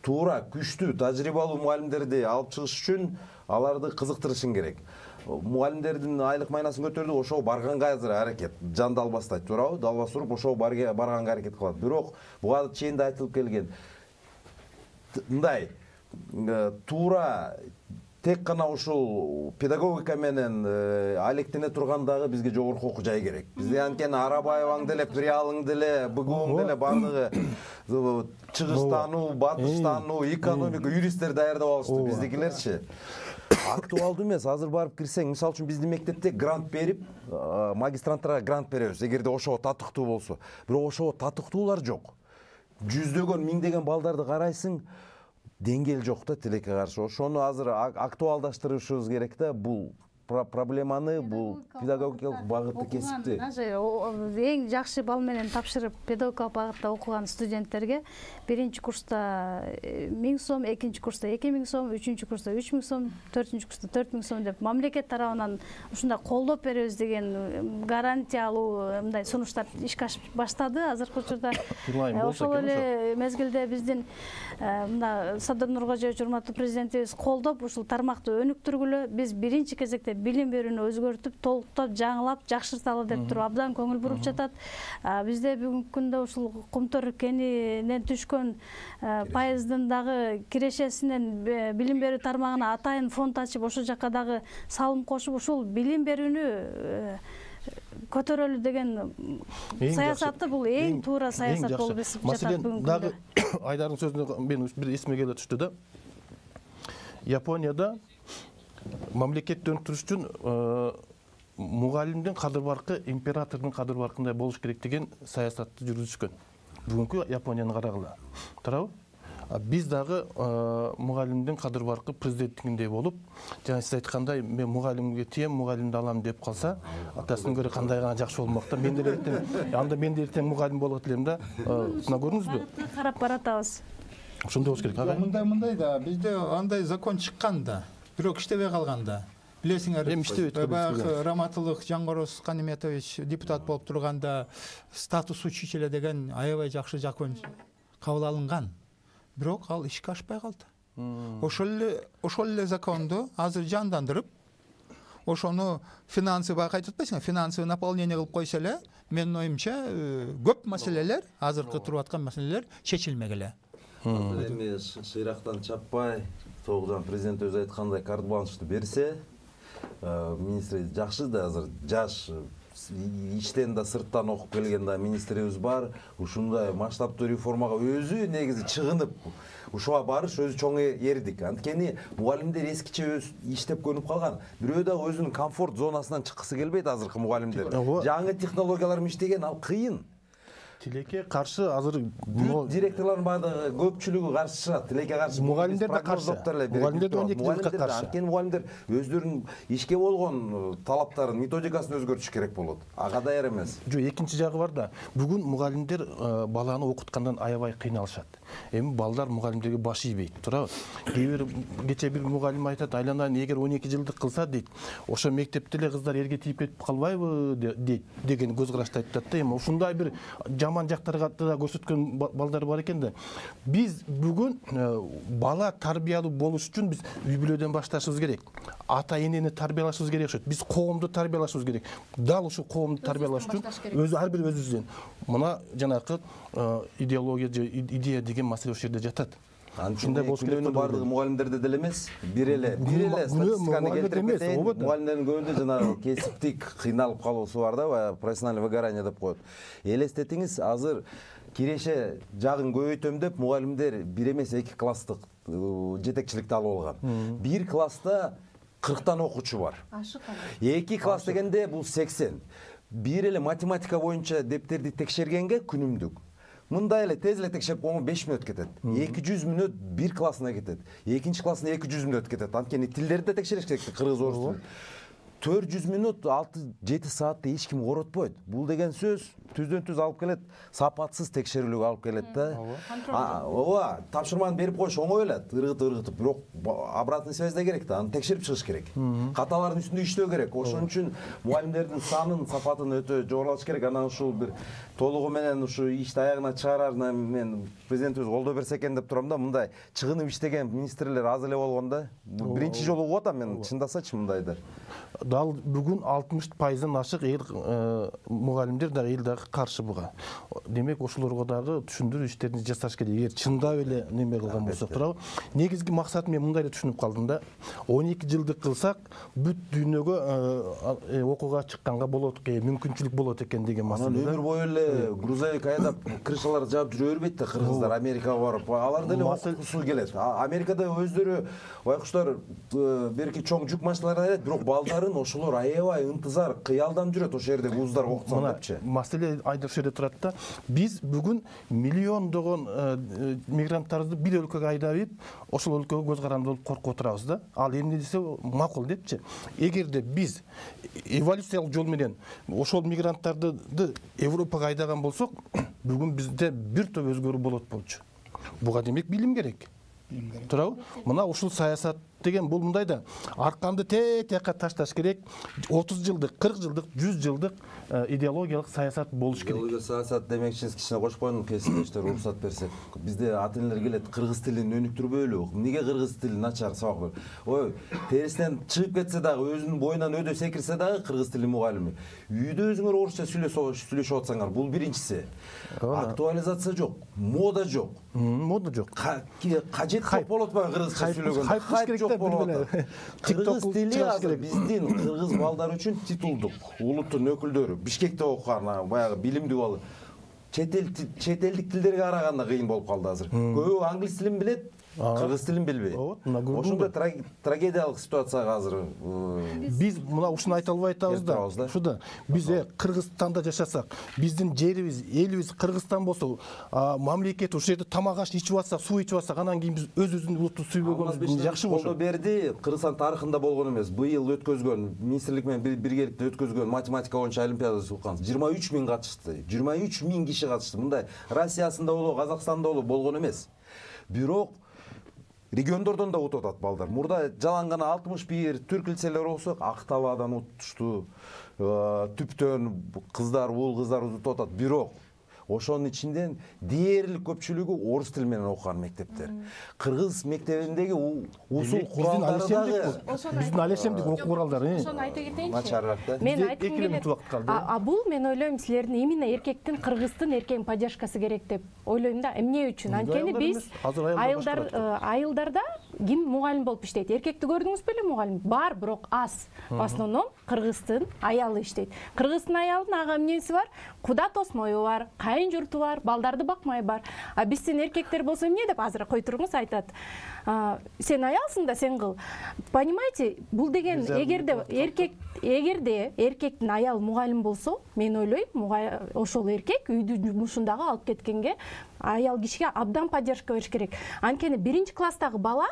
туура күчтүү тажрыйбалуу мугалимдерди алып чыгыш үчүн аларды кызыктырышың керек. Мугалимдердин айлык майнасын көтөрдү, ошого барганга азыр аракет. Жан далбастайт, туурабы? Далбас уруп ошого барганга аракет кылат. Бирок буга чейин да айтылып келген. Мындай туура тек гана ушул педагогика менен алектене турган дагы бизге жогорку окуу жай керек. Бизде анткени Арабаеваң деле, Приялың деле, Бгуң деле бардыгы чыгыштануу, батыштануу, экономика, юристтер даярдап алышты. Биздикилерчи актуалдуу эмес. Азыр барып кирсең, мисалы үчүн биздин мектепте грант берип, магистранттарга грант беребиз, эгерде ошого татыктуу болсо. Бирок ошого татыктуулар жок. Жүздөгөн, миңдеген балдарды карайсың, деңгээл жок да тилекке каршы. Ошону азыр актуалдаштырышыбыз керек да, бул проблеманы, бул педагогикалык багытты кесипти. Эң жакшы балл менен тапшырып педагогикалык багытта окуган студенттерге биринчи курста миң сом, экинчи курста эки миң сом, үчүнчү курста үч миң сом, төртүнчү курста төрт миң сом деп мамлекет тарабынан ушундай колдоп беребиз деген гарантия алуу мындай сунуштар ишке ашып баштады азыркы учурда. Ошол эле мезгилде биздин мына Садыр Нуркожоевич урматтуу президентибиз колдоп ушул тармакты өнүктүргүлө, биз биринчи кезекте билим берүүнү өзгөртүп, толуктап, жаңылап, жакшырталы деп туруп абдан көңүл буруп жатат. Бизде бүгүнкү күндө ушул Кумтөр кенинен түшкөн пайыздын дагы кирешесинен билим берүү тармагына атайын фонд ачып, ошол жака дагы салым кошуп, ушул билим берүүнү көтөрөлү деген саясатты бул эң туура саясат болуп эсип жатат бүгүнкү күндө. Дагы Айдардын сөзүнө мен бир эсиме келе түштү да. Японияда мамлекетти өнүктүрүш үчүн мугалимдин кадыр баркы императордун кадыр баркындай болуш керек деген саясатты жүргүзүшкөн. Бүгүнкү Японияны карагыла. Туурабы? Биз дагы мугалимдин кадыр баркы президенттигиндей болуп, жана сиз айткандай, мен мугалимге тием, мугалимди алам деп калса, атасынан көрө кандай гана жакшы болмок да. Мен деле эртең, анда мен деле эртең мугалим болот элем да. Сына көрдүңүзбү? Карап баратабыз. Ошондой болуш керек, ага. Мындай мындай да, бизде андай закон чыккан да, бирок иштебей калган да. Билесиңер, баягы Раматылык Жаңгороз Каниметович депутат болуп турганда статус учителя деген аябай жакшы закон кабыл алынган. Бирок ал ишке ашпай калды. Ошол эле ошол эле законду азыр жандандырып, ошону финансы баягы айтып атпайсыңбы, финансовый наполнение кылып койсо эле, менин оюмча көп маселелер, азыркы туруп аткан маселелер чечилмек эле. Эми шыйрактан чаппай, тогузан президент өзү айткандай карт бланшты берсе, министр жакшы да, азыр жаш иштен да сырттан окуп келген да министрибиз бар. Ушундай масштабтуу реформага өзү негизи чыгынып, ушуга барыш өзү чоң эрдик. Анткени мугалимдер эскиче иштеп көнүп калган. Бирөө да өзүнүн комфорт зонасынан чыккысы келбейт азыркы мугалимдер. Жаңы технологиялар менен иштеген ал кыйын. Тилекке каршы азыр директорлордун баардыгы көпчүлүгү каршы чыгат. Тилекке каршы. Мугалимдер да каршы. Мугалимдер да он эки жылга каршы. Анткени мугалимдер өздөрүнүн ишке болгон талаптарын, методикасын өзгөртүш керек болот. Ага даяр эмес. Жок, экинчи жагы бар да. Бүгүн мугалимдер баланы окуткандан аябай кыйналышат. Эми балдар мугалимдерге баш ийбейт, туурабы? Кээ бир кече бир мугалим айтат, айланайын, эгер он эки жылдык кылса дейт, ошо мектепте эле кыздар эрге тийип кетип калбайбы дейт деген көз карашты айтат да. Эми ушундай бир жаман жактарга да көрсөткөн балдар бар экен да. Биз бүгүн бала тарбиялуу болуш үчүн биз үй бүлөдөн башташыбыз керек. Ата энени тарбиялашыбыз керек окшойт. Биз коомду тарбиялашыбыз керек. Дал ушул коомду тарбиялаш үчүн өзү ар бир өзүбүздөн мына жанакы идеология же идея деген маселе ошол жерде жатат. Ушундай болуш керек. Бардыгы мугалимдерде деле эмес, бир эле бир эле статистиканы келтирип кетейин. Мугалимдердин көбүндө жанагы кесиптик кыйналып калуусу бар да, баягы профессиональный выгорание деп коет. Элестетиңиз, азыр киреше жагын көбөйтөм деп мугалимдер бир эмес эки класстык жетекчиликти алып алган. Бир класста кырктан окуучу бар. эки класс дегенде бул сексен. Бир эле математика боюнча дептерди текшергенге күнүмдүк мындай эле тез эле текшерип койгонго беш мүнөт кетет. эки жүз мүнөт бир классына кетет. Экинчи классына эки жүз мүнөт кетет. Анткени тилдерди да текшериш керек, кыргыз, орус тилин. төрт жүз мүнөт алты жети саатты эч ким коротпойт. Бул деген сөз түздөн түз алып келет, сапатсыз текшерүүлүгү алып келет да. Ооба, тапшырманы берип коюш оңой эле, ыргытып ыргытып, бирок обратный связь да керек да, аны текшерип чыгыш керек. Каталардын үстүндө иштөө керек. Ошон үчүн мугалимдердин санын, сапатын өтө жогорулатыш керек. Анан ушул бир толугу менен ушу ишти аягына чыгарарына мен президентибиз колдоо берсе экен деп турам да. Мындай чыгынып иштеген министрлер аз эле болгон да. Биринчи жолу угуп атам мен, чындасачы мындайды. Дал бүгүн алтымыш пайыздан ашык эл мугалимдер дагы эл дагы каршы буга. Демек ошолорго дагы түшүндүрүү иштерин жасаш керек. Эгер чындап эле неме кылган болсок туурабы? Негизги максат мен мындай эле түшүнүп калдым да. он эки жылдык кылсак бүт дүйнөгө окууга чыкканга болот, мүмкүнчүлүк болот экен деген маселе. Өмүр бою эле грузовик айдап крышаларды жаап жүрө бербейт да кыргыздар Америкага барып. Алар деле окуусу келет. Америкада өздөрү байкуштар берки чоң жүк машиналары айдайт, бирок балдарын ошолор аябай ынтызар, кыялдан жүрөт ошол жердеги вуздар окутсам депчи. Маселе айдар ошол жерде турат да. Биз бүгүн миллиондогон мигранттарды бир өлкөгө айдап, ошол өлкөгө көз каранды болуп коркуп отурабыз да. Ал эмне десе макул депчи. Эгерде биз эволюциялык жол менен ошол мигранттарды Европага айдаган болсок, бүгүн бизде бир топ өзгөрүү болот болчу. Буга демек билим керек. Туурабы? Мына ушул саясат деген бул мындай да. Арканды тетекка ташташ керек. отуз жылдык, кырк жылдык, жүз жылдык идеологиялык саясат болуш керек. Идеологиялык саясат демекчиңиз кичине кошуп коеюн, кесиптештер уруксат берсек. Бизде ата энелер келет, кыргыз тилин өнүктүрбөйлү. Эмнеге кыргыз тили начар сабак? Ой, терисинен чыгып кетсе дагы, өзүнүн боюнан өдө секирсе дагы кыргыз тили мугалими. Үйдө өзүңөр орусча сүйлөшүп атсаңар, бул биринчиси. Актуализация жок, мода жок. Мода жок. Кажет көп болот атпайбы кыргызча сүйлөгөндө? Хайп жок болот. Кыргыз тили азыр биздин кыргыз балдар үчүн титулдук, улуттун өкүлдөрү, Бишкекте окуган баягы билимдүү бала. Чет эл чет элдик тилдерге караганда кыйын болуп калды азыр. Көбү англис тилин билет, кыргыз тилин билбейт. Ошондой трагедиялык ситуацияга азыр биз мына ушуну айта албай атабыз да. Ушуда биз Кыргызстанда жашасак, биздин жерибиз, элибиз Кыргызстан болсо, мамлекет ушул жерде тамак аш ичип атсак, суу ичип атсак, анан кийин биз өз-өзүбүздүн улутту сүйбөгөнүбүз жакшы болот. Колдоо берди, Кыргызстан тарыхында болгон эмес. Быйыл өткөзгөн, министрлик менен биргеликте өткөзгөн математика боюнча олимпиадасы уккан жыйырма үч миң катышты. жыйырма үч миң киши катышты. Мындай Россиясында болобу, Казакстанда болобу болгон эмес. Бирок региондордон да утуп атат балдар. Мурда жалаң гана алтымыш бир түрк лицейлери болсок, Актабадан утушту, Түптөн кыздар, уул кыздар утуп атат. Бирок ошонун ичинен дээрлик көпчүлүгү орус тили менен окуган мектептер. Кыргыз мектебиндеги усул куралдары дагы биздин алешемдик окуу куралдары. Ошону айта кетейинчи. Начарыраак да. Мен айткым келет. А бул мен ойлойм силердин именно эркектин, кыргыздын эркектин поддержкасы керек деп ойлойм да. Эмне үчүн? Анткени биз айылдар айылдарда ким мугалим болуп иштейт? Эркекти көрдүңүз беле мугалим? Бар, бирок аз. В основном кыргыздын аялы иштейт. Кыргыздын аялынын ага эмнеси бар? Куда тосмою бар, кайын журту бар, балдарды бакмай бар. А биздин эркектер болсо эмне деп азыр кой туруңуз айтат. Сен аялсың да сен кыл. Понимаете, бул деген эгерде эркек эгерде эркектин аялы мугалим болсо, мен ойлойм, ошол эркек үйдүн жумушун дагы алып кеткенге аял кишиге абдан поддержка бериш керек. Анткени биринчи класстагы бала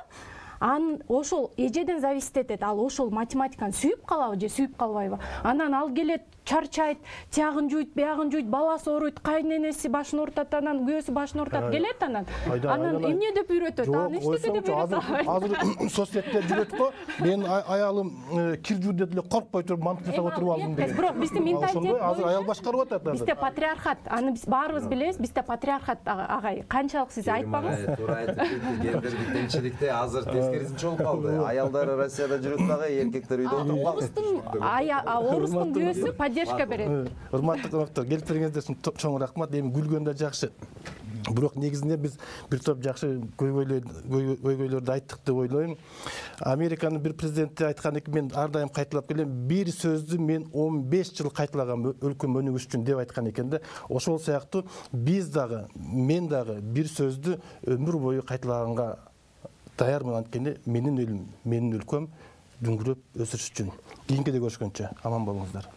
ан ошол эжеден зависит этет. Ал ошол математиканы сүйүп калабы же сүйүп калбайбы. Анан ал келет, чарчайт, тиягын жуйт, биягын жуйт, баласы ооруйт, кайненеси башын оорутат, анан күйөөсү башын оорутат, келет анан. Анан эмне деп үйрөтөт? Аны эчтеке деп үйрөтөт. Азыр соцсетте жүрөт го. Мен аялым кир жуу деп эле коркпой туруп мантып жасап отуруп алдым деген. Бирок биздин менталитет азыр аял башкарып атат азыр. Бизде патриархат, аны биз баарыбыз билебиз. Бизде патриархат агай. Канчалык сиз айтпаңыз. Туура айтып кетти. Гендердик теңчиликте азыр тескерисинче болуп калды. Аялдар Россияда жүрөт дагы, эркектер үйдө отуруп калды. Орустун күйөөсү поддержка берет. Урматтуу конокторлор, келип бергениңиздер үчүн чоң рахмат. Эми күлгөн да жакшы. Бирок негизинде биз бир топ жакшы көйгөйлөрдү айттык деп ойлойм. Американын бир президенти айткан экен, мен ар дайым кайталап келем, бир сөздү мен он беш жыл кайталагам өлкөм өнүгүш үчүн деп айткан экен да. Ошол сыяктуу биз дагы, мен дагы бир сөздү өмүр бою кайталаганга даярмын. Анткени менин элим, менин өлкөм дүңгүрөп өсүш үчүн. Кийинкиде көрүшкөнчө аман болуңуздар.